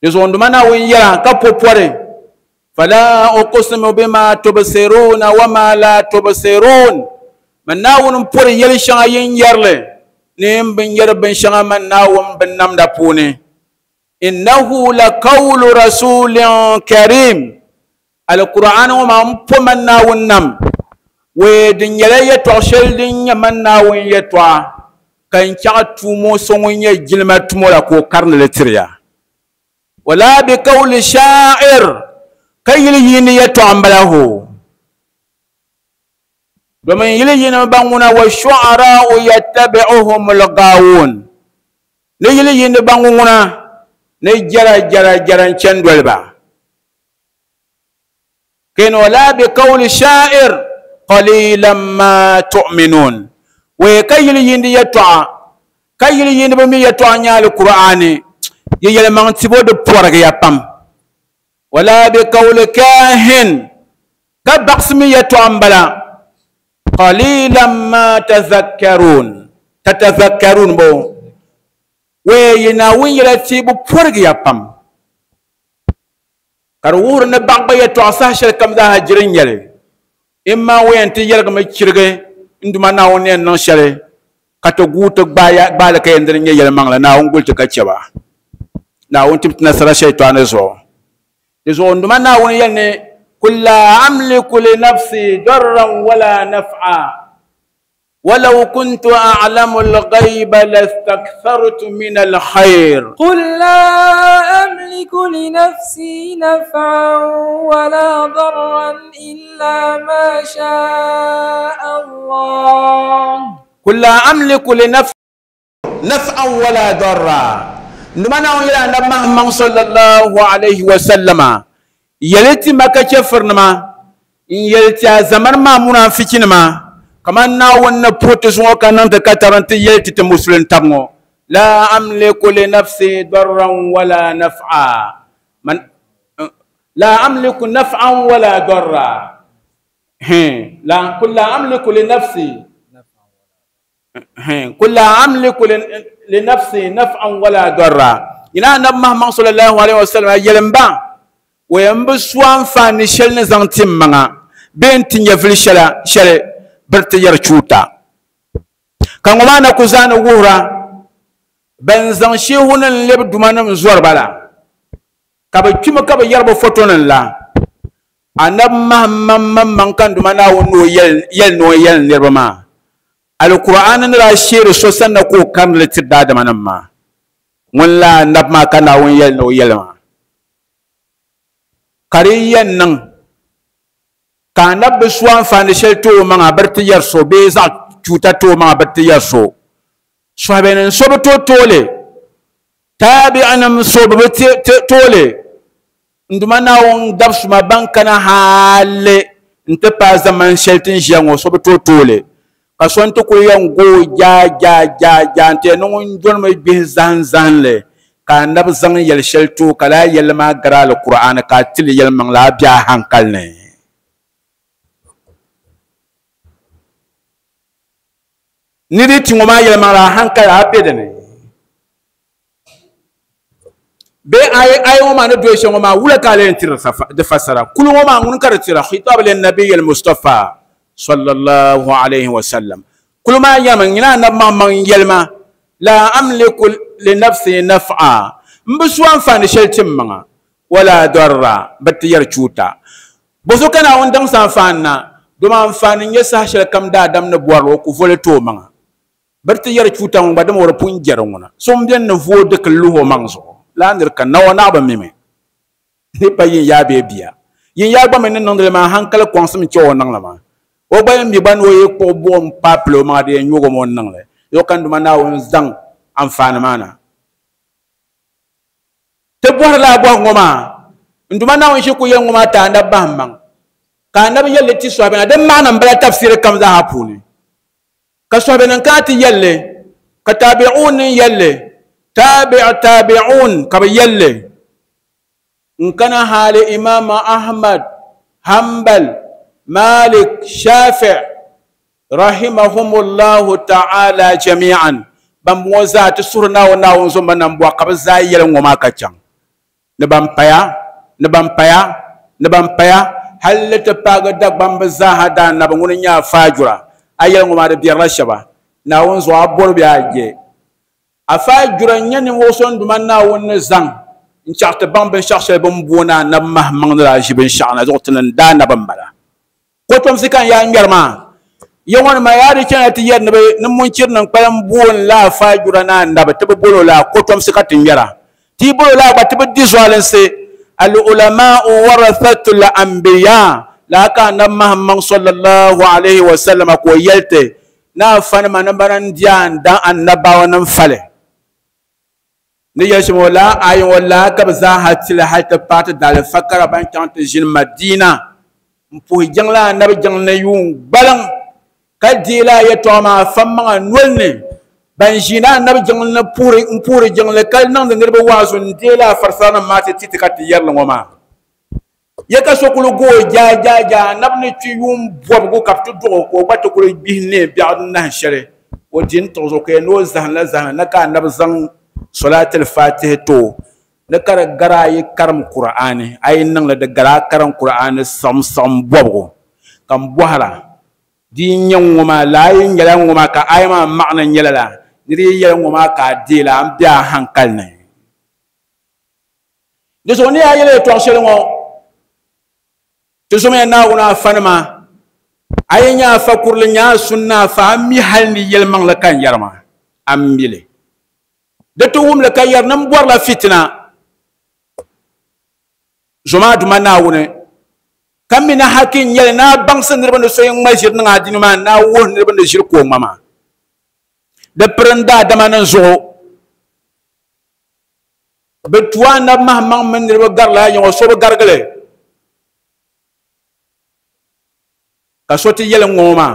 يزون دمنا وين يلا كبوبوري فلا أقسم بما تبصرون وما لا تبصرون من ناون بوري يلي شاين يرلي نيم بن ير بن شان من ناون بن نم دابوني إنه لقول رسول كريم القرآن وما مبو من ناون نم ودن يلي يتوشل دن من ناون يتوا kan kya tumo songon ya gilma tumo la ko karna letriya wala bi qawli sha'ir kayil yini ya to ambalahu domin yili yini banguna wa shu'ara yattabi'uhum al-gawun ne yili yini banguna ne jara jara jaran cendolba ken wala bi qawli sha'ir qalilan ma tu'minun وكيل يندي يتوا كيل يندي بمي يتوا نيال القرآن ييل مان تيبو دو بورغ يا بام ولا بقول كاهن كبقسمي يتوا امبلا قليلا ما تذكرون تتذكرون بو وينا وين يلا تيبو بورغ يا بام كرور نبان يتوا ساشل كم ذا هجرين يلي اما وين تيجي ما تشرغي nduma na woni non shale kato guto gbaya gbala kay ndere nyel mangla na on gulti ka cheba na won timt nasara shaytan zo zo nduma na woni yelne kul la amliku li nafsi darran wala naf'a ولو كنت أعلم الغيب لاستكثرت من الخير قل لا أملك لنفسي نفعا ولا ضرا إلا ما شاء الله قل لا أملك لنفسي نفعا ولا ضرا نمنا إلى محمد صلى الله عليه وسلم يلتي ما كفرنما يلتي زمن ما منافقين ما كما ناون بروتسون كان تكترنت يلتي تمسلم تامو لا أملك لنفسي ضرا ولا نفعا من لا أملك نفعا ولا ضرا لا كل أملك لنفسي كل أملك لنفسي نفعا ولا ضرا إلى النبي محمد صلى الله عليه وسلم يلمبا وينبسوان فانشل نزانتم منا بنت يفل شلا شل برت يرچوتا kan ma na kuzana wura ban zan shehunan leb dumanam zuwar bala ka ba kima ka ba yarba fotonan la anab mahamman man kan dumana wono yel yel no yel nerba ma alquran na ra shere so sanna ko kan le tidda da manan ma mun la nab ma kana won yel no yel ma kariyan nan ka nab suwan fani shel to ma barti yar so be za cuta to ma barti yar so so benen so to tole tabi'anam so be tole nduma na won dabsu ma bankana hale nte pa zaman sheltin jango so be to tole Ka so n-ti kuli yɛn gooi jaa jaa jaa jaa n-ti yɛn ni ŋun donimi gbihi zahim zahimli ka anabi zaŋ yɛli shɛli ti o ka laa yɛlli maa gari Alkur'aani ka a tili yɛlimaŋli a be a hankali ni. Ni di ti ŋɔ maa yɛlimaŋli a hankali a be dini. Bee ayi ŋɔ maa ni doli shɛli ŋɔ maa wula ka a lee tiri di fasara kuli ŋɔ maa ŋuni ka di tira khitab linnabiyi al-Mustafa sallallahu alayhi wa sallam kuli maa yɛlimi nyina anabi maŋmaŋ yɛlima la amliku li nafsi naf'a n bi su anfaani shɛli ti n maŋa wala darra bi ti yɛri chuuta boso ka Naawuni daŋsi anfaani na domi anfaani n nyɛ saha shɛli kam daadam ni bɔrili o ku voli ti o maŋa bi ti yɛri chuuta ŋɔ gba dama o di pun jɛri ŋuna so n bɛni ni vooi dikili luhi o maŋ zuɣu la nir ka nawa naɣ bi mimi ni pa yin yaa bee bia yin yaa gba mi ni niŋdili maa hankali kɔŋsim che o niŋli maa o gba yɛn mi gba ni o yi kpuɣi buɣim paai pili o maŋa di yɛn nyugi mi o niŋli yo ka Duma Naawuni zaŋ anfaani maa na ti bɔhiri laa bɔhi ŋɔ maa n Duma Naawuni ʒi ku yɛli ŋɔ maa ti anabi bahi maŋ ka anabi yɛlli ti sɔhibina din maɣana n bala tafsiri kam zaaha puuni ka sɔhibina kana ti yɛlli ka tabi'un ni yɛlli tabi' tabi'un ka bi yɛlli n kana hali Imam Ahmad Hanbal Malik Shafi' rahimahumullahu ta'ala jami'an ban ŋɔ zaa ti suhuri Naawuni Naawuni zomba nam bɔɣu ka bi zaa yɛli ŋɔ maa ka chaŋ ni ban paya ni ban paya ni ban paya hali ti paagi Dagbambi zaaha daa nabi ŋuni nyɛ afaajura a yɛli ŋɔ maa di biɛrila shɛba Naawuni zuɣu a bɔri bɛ a je afaajura n nyɛ ninvuɣu so n Duma Naawuni ni zaŋ n chaɣ ti baŋ binshɛɣu shɛli bin booni anabi mahimaŋ ni daa ʒi binshɛɣu na zuɣu ti ni daa nabi n bala kotomsi ka n yaa ŋmɛri maa ya ŋɔ nima yaa di chana ti yɛri ni bi ni munchiri nim kpalim booni la afaajura ni anabi ti bi bolo la kotomsi ka ti ŋmɛra ti bolo la gba ti bi di zualinsi al-ulama'u warathatul anbiya la ka anabi mahimaŋ sallallahu alaihi wa sallam ko yɛlti na afa nima ni bana n di an dan annabawa nim fali ni yɛli shɛm la ayi ŋɔ la ka bi zaaha tili hali ti paai ti daalifa kara ban chaŋ ti ʒini Madina n puhi jiŋli anabi jiŋli ni yuun gbaliŋ ka deei la yɛltɔɣa maa fa maŋa noli ni ban ʒiina anabi jiŋli ni puhiri n puhiri jiŋli ka niŋdi niriba waazu n deei la farisara nim maa ti ti ti ka ti yɛrili ŋɔ maa ya ka so kuli gooi jaa jaa jaa anabi ni kpi yuun bɔbigu ka bi ti duɣi ka o gba ti kuli gbihi nee biɛɣu nahi shɛli o di n tiɣi zuɣu ka yɛn ni o zahimla zahimla na ka anabi zaŋ solatil fatihi to ni ka di gari a yi karim Kur'aani a yi niŋli di gari a karim Kur'aani siɣim siɣim bɔbigu ka n bɔhira di yi nyɛ ŋɔ maa laa yi nyɛla ŋɔ maa ka ayi maa maɣana nyɛla la ni di yi yɛli ŋɔ maa ka a deei la an be a hankali ni di zuɣu ni yaa yɛli yɛltɔɣa shɛli ŋɔ ti zomiya Naawuni afa nima a yi nyɛ afa kurili nyɛ a sunna afa a mi hali ni yɛlimaŋli ka n yɛri maa a mi li di ti wumli ka yɛri ni n bɔrila fitina zoma Duma Naawuni ka mi na haki n nyɛli ni a baŋsi niriba ni so yi ŋma ʒiri niŋ a dini maa ni a wuhi niriba ni ʒiri ka o ŋma maa di piri n daadama nim zuɣu bi tu anabi mahimaŋ mini niriba garila yaŋɔ so bi garigili ka so ti yɛli ŋɔ maa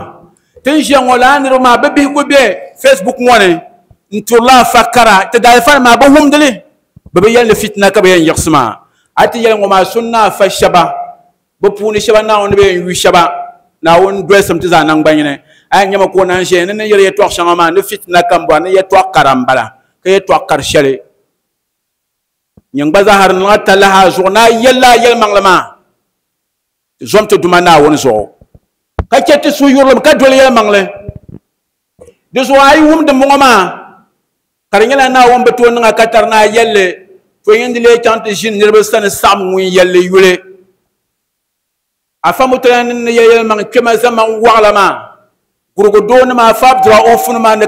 ti n ʒiya ŋɔ laa niriba maa bi bihi ku be Facebook ŋɔ ni n turila afa kara ti daalifa maa bi wumdili bi bi yɛli ni fitina ka bi yɛn yiɣisi maa a ti yɛli ŋɔ maa sunna afa shɛba bi puuni shɛba Naawuni bi yɛn yu shɛba Naawuni dolisim ti zaa nangbanyini a yɛn nyɛmi ka o naan ʒiya ni ni yɛli yɛltɔɣa shɛŋa maa ni fitina ka n bɔra ni yɛltɔɣa kara n bala ka yɛltɔɣa kari shɛli nyin gba zaa di niŋ a talahi a zuɣu ni a yɛlila a yɛlimaŋli maa ti zom ti Duma Naawuni zuɣu ka chɛ ti suhuyurilim ka doli yɛlimaŋli di zuɣu a yi wumdi ŋɔ maa ka di nyɛla Naawuni bi tooi niŋ a ka tari ni a yɛlli to yin di lee chaŋ ti ʒini niriba sani saɣam ŋun yɛlli yuli afa mutala ni ni yɛli yɛlimaŋ kpɛma zaman waɣala maa gurugu doo nima afa Abduraufu nima ni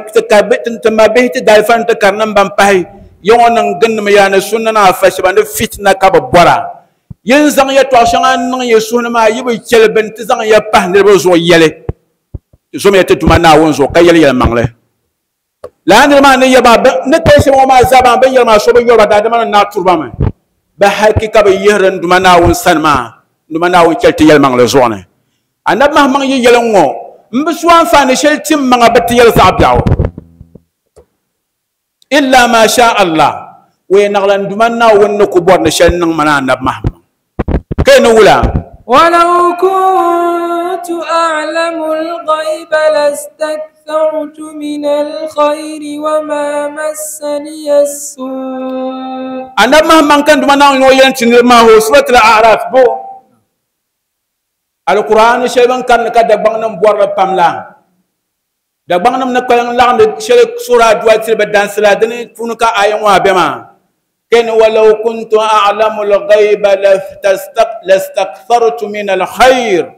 ti ma bihi ti daalifa ni ti kari nim ban pahi ya ŋɔ niŋ ginnim yaa ni sunna ni afa shɛba ni fitina ka bi bɔra yin zaŋ yɛltɔɣa shɛŋa niŋ ya suhu ni maa yi bi chɛli bini ti zaŋ ya pahi niriba zuɣu yɛli ti zomiya ti Duma Naawuni zuɣu ka yɛli yɛlimaŋli laa niriba maa ni yɛba ni kali shɛba ŋɔ maa zaa maa bin yɛli maa so bi yɔriba daadama ni naa turiba mi bi haki ka bi yihiri n Duma Naawuni sani maa n Duma Naawuni chɛli ti yɛlimaŋli zuɣu ni anabi mahimaŋ yi yɛli ŋɔ N bi su anfaani shɛli ti n maŋa bi ti yɛli zaɣ biɛɣu illa ma sha Allah wee naɣila n duma Naawuni ni ku bɔri ni shɛli niŋ mana anabi Muhammad ka ni wula ولو كنت أعلم الغيب لاستكثرت من الخير وما مسني السوء anabi Muhammad kan duma Naawuni ŋɔ yɛn ti niriba maa ho suratul A'raf bo Alqur'an shɛli bin karindi ka Dagbaŋ nim bɔrili pam la Dagbaŋ nim ni kpaliŋ laɣindi shɛli sura aduwa tiri bi dansi la dini puuni ka aya ŋɔ a be maa keni walau kuntu a'lamu al-ghayba lastakthartu min al-khayr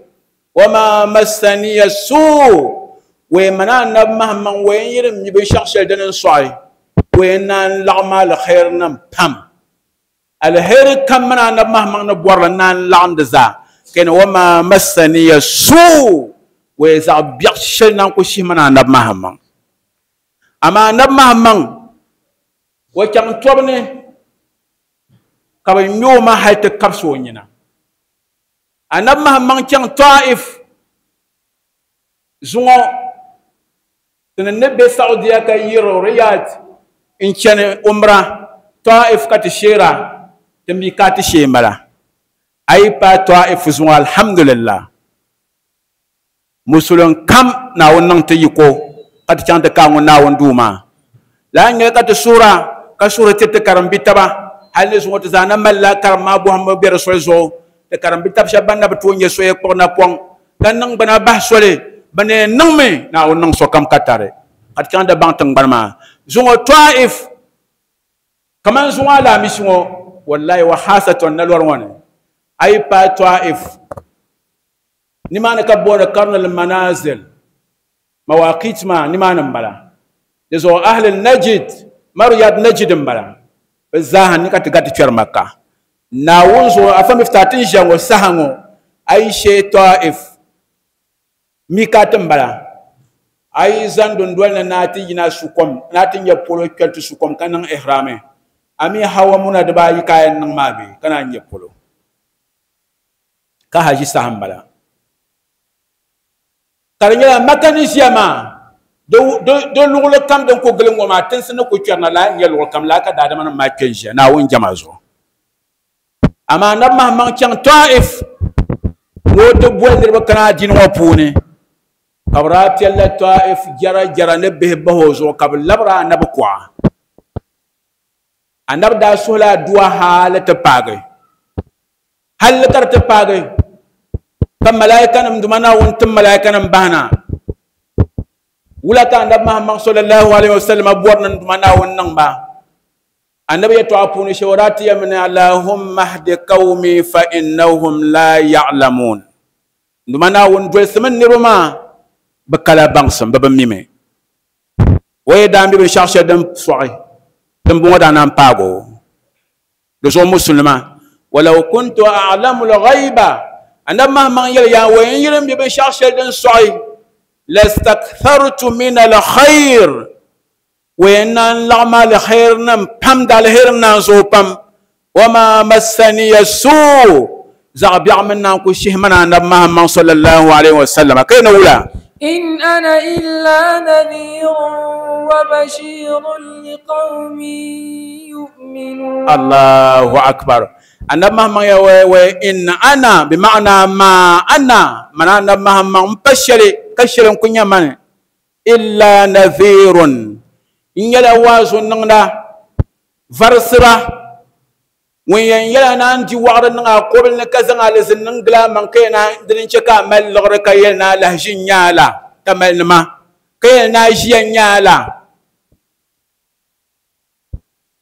wa ma massani as-su' wa mana anabi Muhammad wa yiri mi binshɛɣu shɛli dini n sɔɣi wa naan laɣim al-khayr nim pam alheri kam mana anabi Muhammad ni bɔrili naan laɣindi zaa keni wa ma massani as-su' wa zaɣ biɛɣu shɛli naan ku shihi mana anabi Muhammad amma anabi Muhammad wa chaŋ tɔbu ni ka bi ŋme o ma hali ti kabisi o nyina anabi Muhammad chaŋ Taif zuŋɔ tini ni be Saudiya ka yiri Riyadh n chani umra Taif ka ti sheera ti mi ka ti shee m-bala a yi paai Taif zuŋɔ alhamdulillah musulin kam Naawuni niŋ ti yiko ka ti chaŋ ti kaai ŋun Naawuni duu maa lala n-nyɛli ka ti suura ka suuri tiri ti karimbi taba hali ni zuŋɔ ti zaa na malila karim maa bɔhimbu be di soli zuɣu ti karimbi tab shɛba ban na bi tooi nyɛ soya kpuɣi napɔŋ ka niŋ bina bahi soli bɛ ni yɛn niŋmi Naawuni niŋ sokam ka tari ka ti chaŋ ti baŋ tiŋgbani maa zuŋɔ Taif kaman zuŋɔ Alaamisi ŋɔ wallahi wa haasatan na lɔri ŋɔ ni a yi paai Taif nimaani ka booni Karnul Manazil mawaqit maa nimaani m-bala di zuɣu ahli Najd Mariyad Najd m-bala bɛ zaaha ni ka ti gari ti kpɛri Makka Naawuni zuɣu afa mifta ti n ʒiya ŋɔ saha ŋɔ a yi shee Taif mikati m-bala a yi zaŋ dundoli ni naa ti yina sukom naa ti nyɛ polo kpɛri ti sukom ka niŋ ihrami a mi hawa muna dibaayi ka a yɛn niŋ maa bee ka naan nyɛ polo ka haji saha m-bala ka di nyɛla Makka ni ʒiya maa di luɣuli kam din ku gili ŋɔ maa tinsi ni ku kpɛrina laa n-nyɛ luɣuli kam laa ka daadama nim maa kpe n-ʒiya Naawuni jɛma zuɣu amaa anabi Muhammad chaŋ Taif ni o ti boli niriba kana adiini ŋɔ puuni ka bɛ daa piɛlila Taif jɛra jɛra ni bihi bahi o zuɣu ka bɛ labiri anabi kuɣa anabi daa suhila aduwa hali ti paagi hali ka di ti paagi ka malaikanim duma Naawuni tim malaikanim bahina wula ka anabi Muhammad sallallahu alaihi wasallam bɔri ni duma Naawuni niŋ ba anabi yɛtɔɣa puuni shɛli o daa ti yɛmi ni Allahumma hdi qawmi fa innahum la ya'lamun duma Naawuni dolisimi niriba maa bɛ kala baŋsim bɛ bi mimi o yi daa mi binshɛɣu shɛli din sɔɣi din bɔŋɔ daa naan paagi o di zuɣu musulima walau kuntu a'lamu al-ghayba anabi Muhammad yɛli yaa wa n yiri mi binshɛɣu shɛli din sɔɣi lastakthartu min al-khayr wa naan laɣim al-khayr nim pam da alheri naan zooi pam wa ma massani as-suu zaɣ biɛɣu min naan ku shihi mana anabi Muhammad sallallahu alaihi wasallam ka ni wula إن أنا إلا نذير وبشير لقوم يؤمنون الله أكبر anabi Muhammad ya wa in ana بمعنى ما أنا من anabi Muhammad n pa shɛli ka shɛli n ku nyɛ mani illa nadhirun n nyɛla waazu niŋda varisira ŋun yɛn yɛla naan di waɣari niŋ a kobili ni ka zaŋ alizin niŋ gili a maŋ ka yɛn dini n chɛ ka a mali liɣiri ka yɛli ni a lahi ʒi n nyaa la ka mali nima ka yɛli ni a ʒiya n nyaa la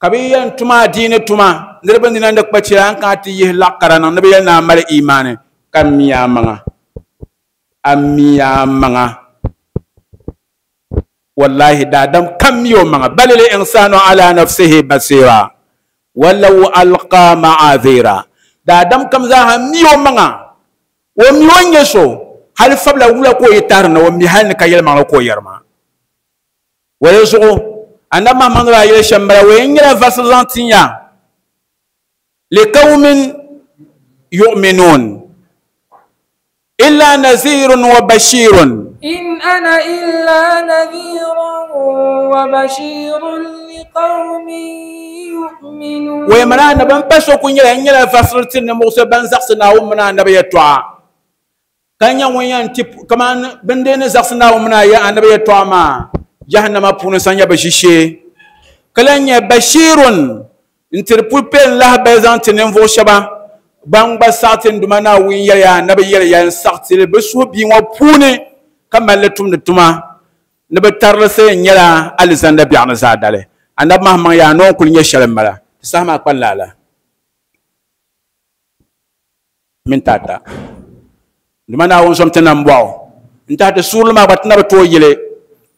ka bi yɛn tuma adiini tuma niriba nina ni kpa chɛla n kana ti yihi laɣ kara niŋ ni bi yɛli ni a mali imaani ka mi a maŋa a mi a maŋa wallahi daadam kam mi o maŋa bal il insanu ala nafsihi basira walau alqa ma'adhira daadam kam zaaha mi o maŋa o mi o nyɛ so hali fabila wula ka o yi tahiri na o mi hali ni ka yɛlimaŋli ka o yɛri maa wala zuɣu anabi Muhammad daa yɛli shɛm bala o yɛn nyɛla varisi zaŋ tin ya liqawmin yu'minun illa nazirun wa bashirun إن أنا إلا نذير وبشير لقوم يؤمنون ويمنا نبن بسو كن يلا يلا فصلت نموسى بن زخسنا ومنا نبي يتوع كان يوم تب كمان بندين زخسنا ومنا يا نبي يتوع ما جهنم بونسان يا بشيشي كلن يا بشير انتربول بين الله بزان تنفو شبا بان بساتين دمنا وين يلا نبي يلا ينسختي بسو بيو بوني كما لتم نتما نبترسي نيلا الزند بيعنا زادله انا مهما يا نون كل نيشل ملا سما قال لا لا من تاتا دمنا وون سمتنا مباو انت هذا سور ما بتنا بتو يلي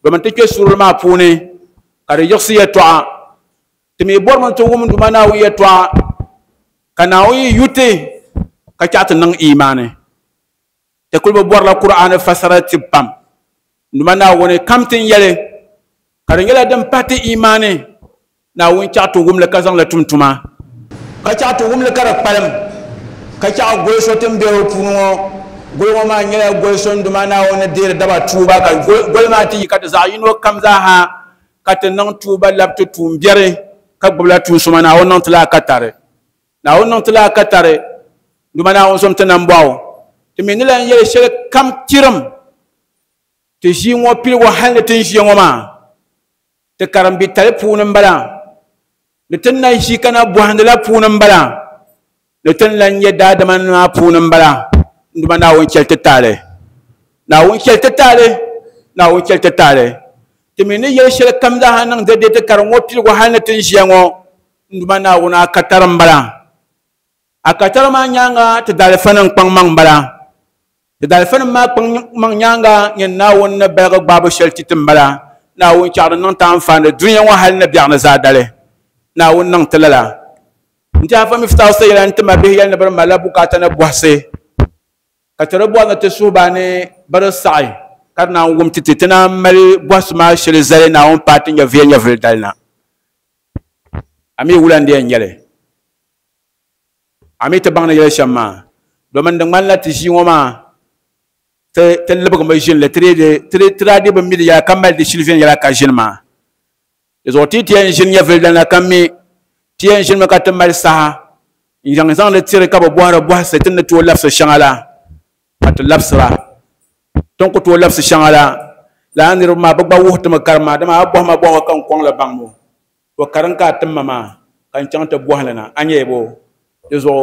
بمن تكي سور ما بوني كاري يخسي يتوا تمي بور من تو ومن دمنا ويتوا كناوي يوتي كاتات نن ايمانه تقول بور القرآن فسرت بام نمنا وني كم تنيله كارنجلا دم باتي إيماني ناوين تاتو وم لكازان لتوم توما كاتاتو وم لكارك بالم كاتا غويسو تم بيرو بونو غويو ما نيلا غويسو ndumana وني دير دابا توبا كا غوي ما تي كات زاينو كم زاها كات نون توبا لابتو توم بيري كبلا تو سمانا ونون تلا كاتاري ناون تلا كاتاري ndumana ون سوم تنامباو تمين لا يلي شل كم تيرم تجي مو بيل وحال تنجي وما تكرم بتلفون بلا لتن يشي كنا بوهند لا فون بلا لتن لن يداد من ما فون بلا nduma na won kel tetale na won kel tetale na won kel tetale تمين يلي شل كم ذا هنن زد تكرم مو بيل وحال تنجي مو nduma na wona kataram بلا akatara ma nyanga te dalfan pang mang bala te dalfan ma pang mang nyanga nyen na won na berg babu shel titim bala na won char non tan fan dunya wa hal na bi'na zadale na won nan talala nta fa miftaw sayla anta ma bihi na bar malabu ka ta na buhse ka tarabu na te subane bar sa'i karna wum tititina mali buhs ma shel zale na won patin ya vinya vildalna ami wulande nyele ami te bangna yele shamma domin de man la ti jiwoma te te lebg ma jin le tre de tre tradi ba mi ya kamal de silvien yala ka jin ma les oti ti en jin ya veldan la kammi ti en jin ma ka te mal sa njang zang le tire ka ba boara bo se tin to lafsa shangala at lafsra ton ko to lafsa shangala la anir ma ba ba wuhta ma karma dama bo ma bo kan kon la bangmo wa karanka timma kan changta bohlana anyebo dizo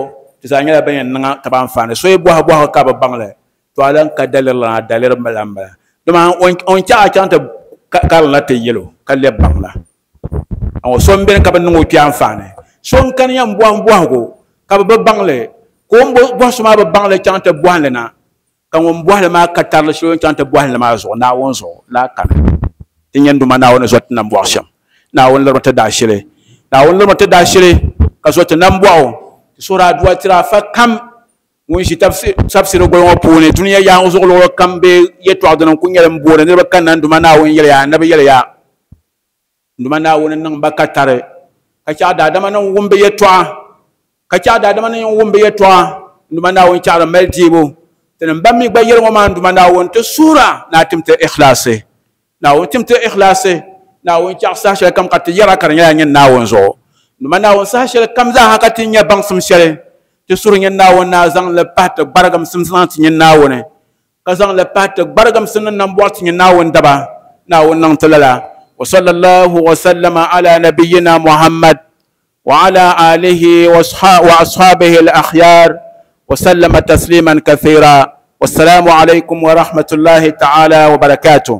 tizanya bayan nga taban fane so boha boha ka ba bangle to alan ka dalir la dalir malamba dama on on cha chanta kal la te yelo ka le bangla on so mben ka ban ngo tian fane so kan yam boha boha ko ka ba bangle ko bo so ma ba bangle chanta bohle na kan on bohle ma ka tar la so chanta bohle ma zo na won zo la kan tinyen duma na won zo tan bo sham na won la ta dashire na won la ta dashire ka zo tan bo sura duwa tira fa kam won shi tafsir tafsir go wo pone duniya ya on zo kam be yeto adon ku nyere mbore ne ba kan nan duma na won yele ya nabi yele ya duma na won nan ba ka tare ka cha da dama nan won be yeto ka cha da dama nan won be yeto duma na won cha mel jibo tan ba mi ba yele ma duma na won te sura na timte ikhlase na won timte ikhlase na won cha sa shel kam ka te yara kar nya na won zo duma na won sa shel kam za haka tin ya bang sum shele te suru nyen na won na zang le pat bargam sum san tin nyen na won ka zang le pat bargam sum nan bo tin nyen na won daba na won nan talala wa sallallahu wa sallama ala nabiyyina muhammad wa ala alihi wa ashabihi al akhyar wa sallama tasliman kathira. Wassalamu alaikum wa rahmatullahi ta'ala wa barakatuh.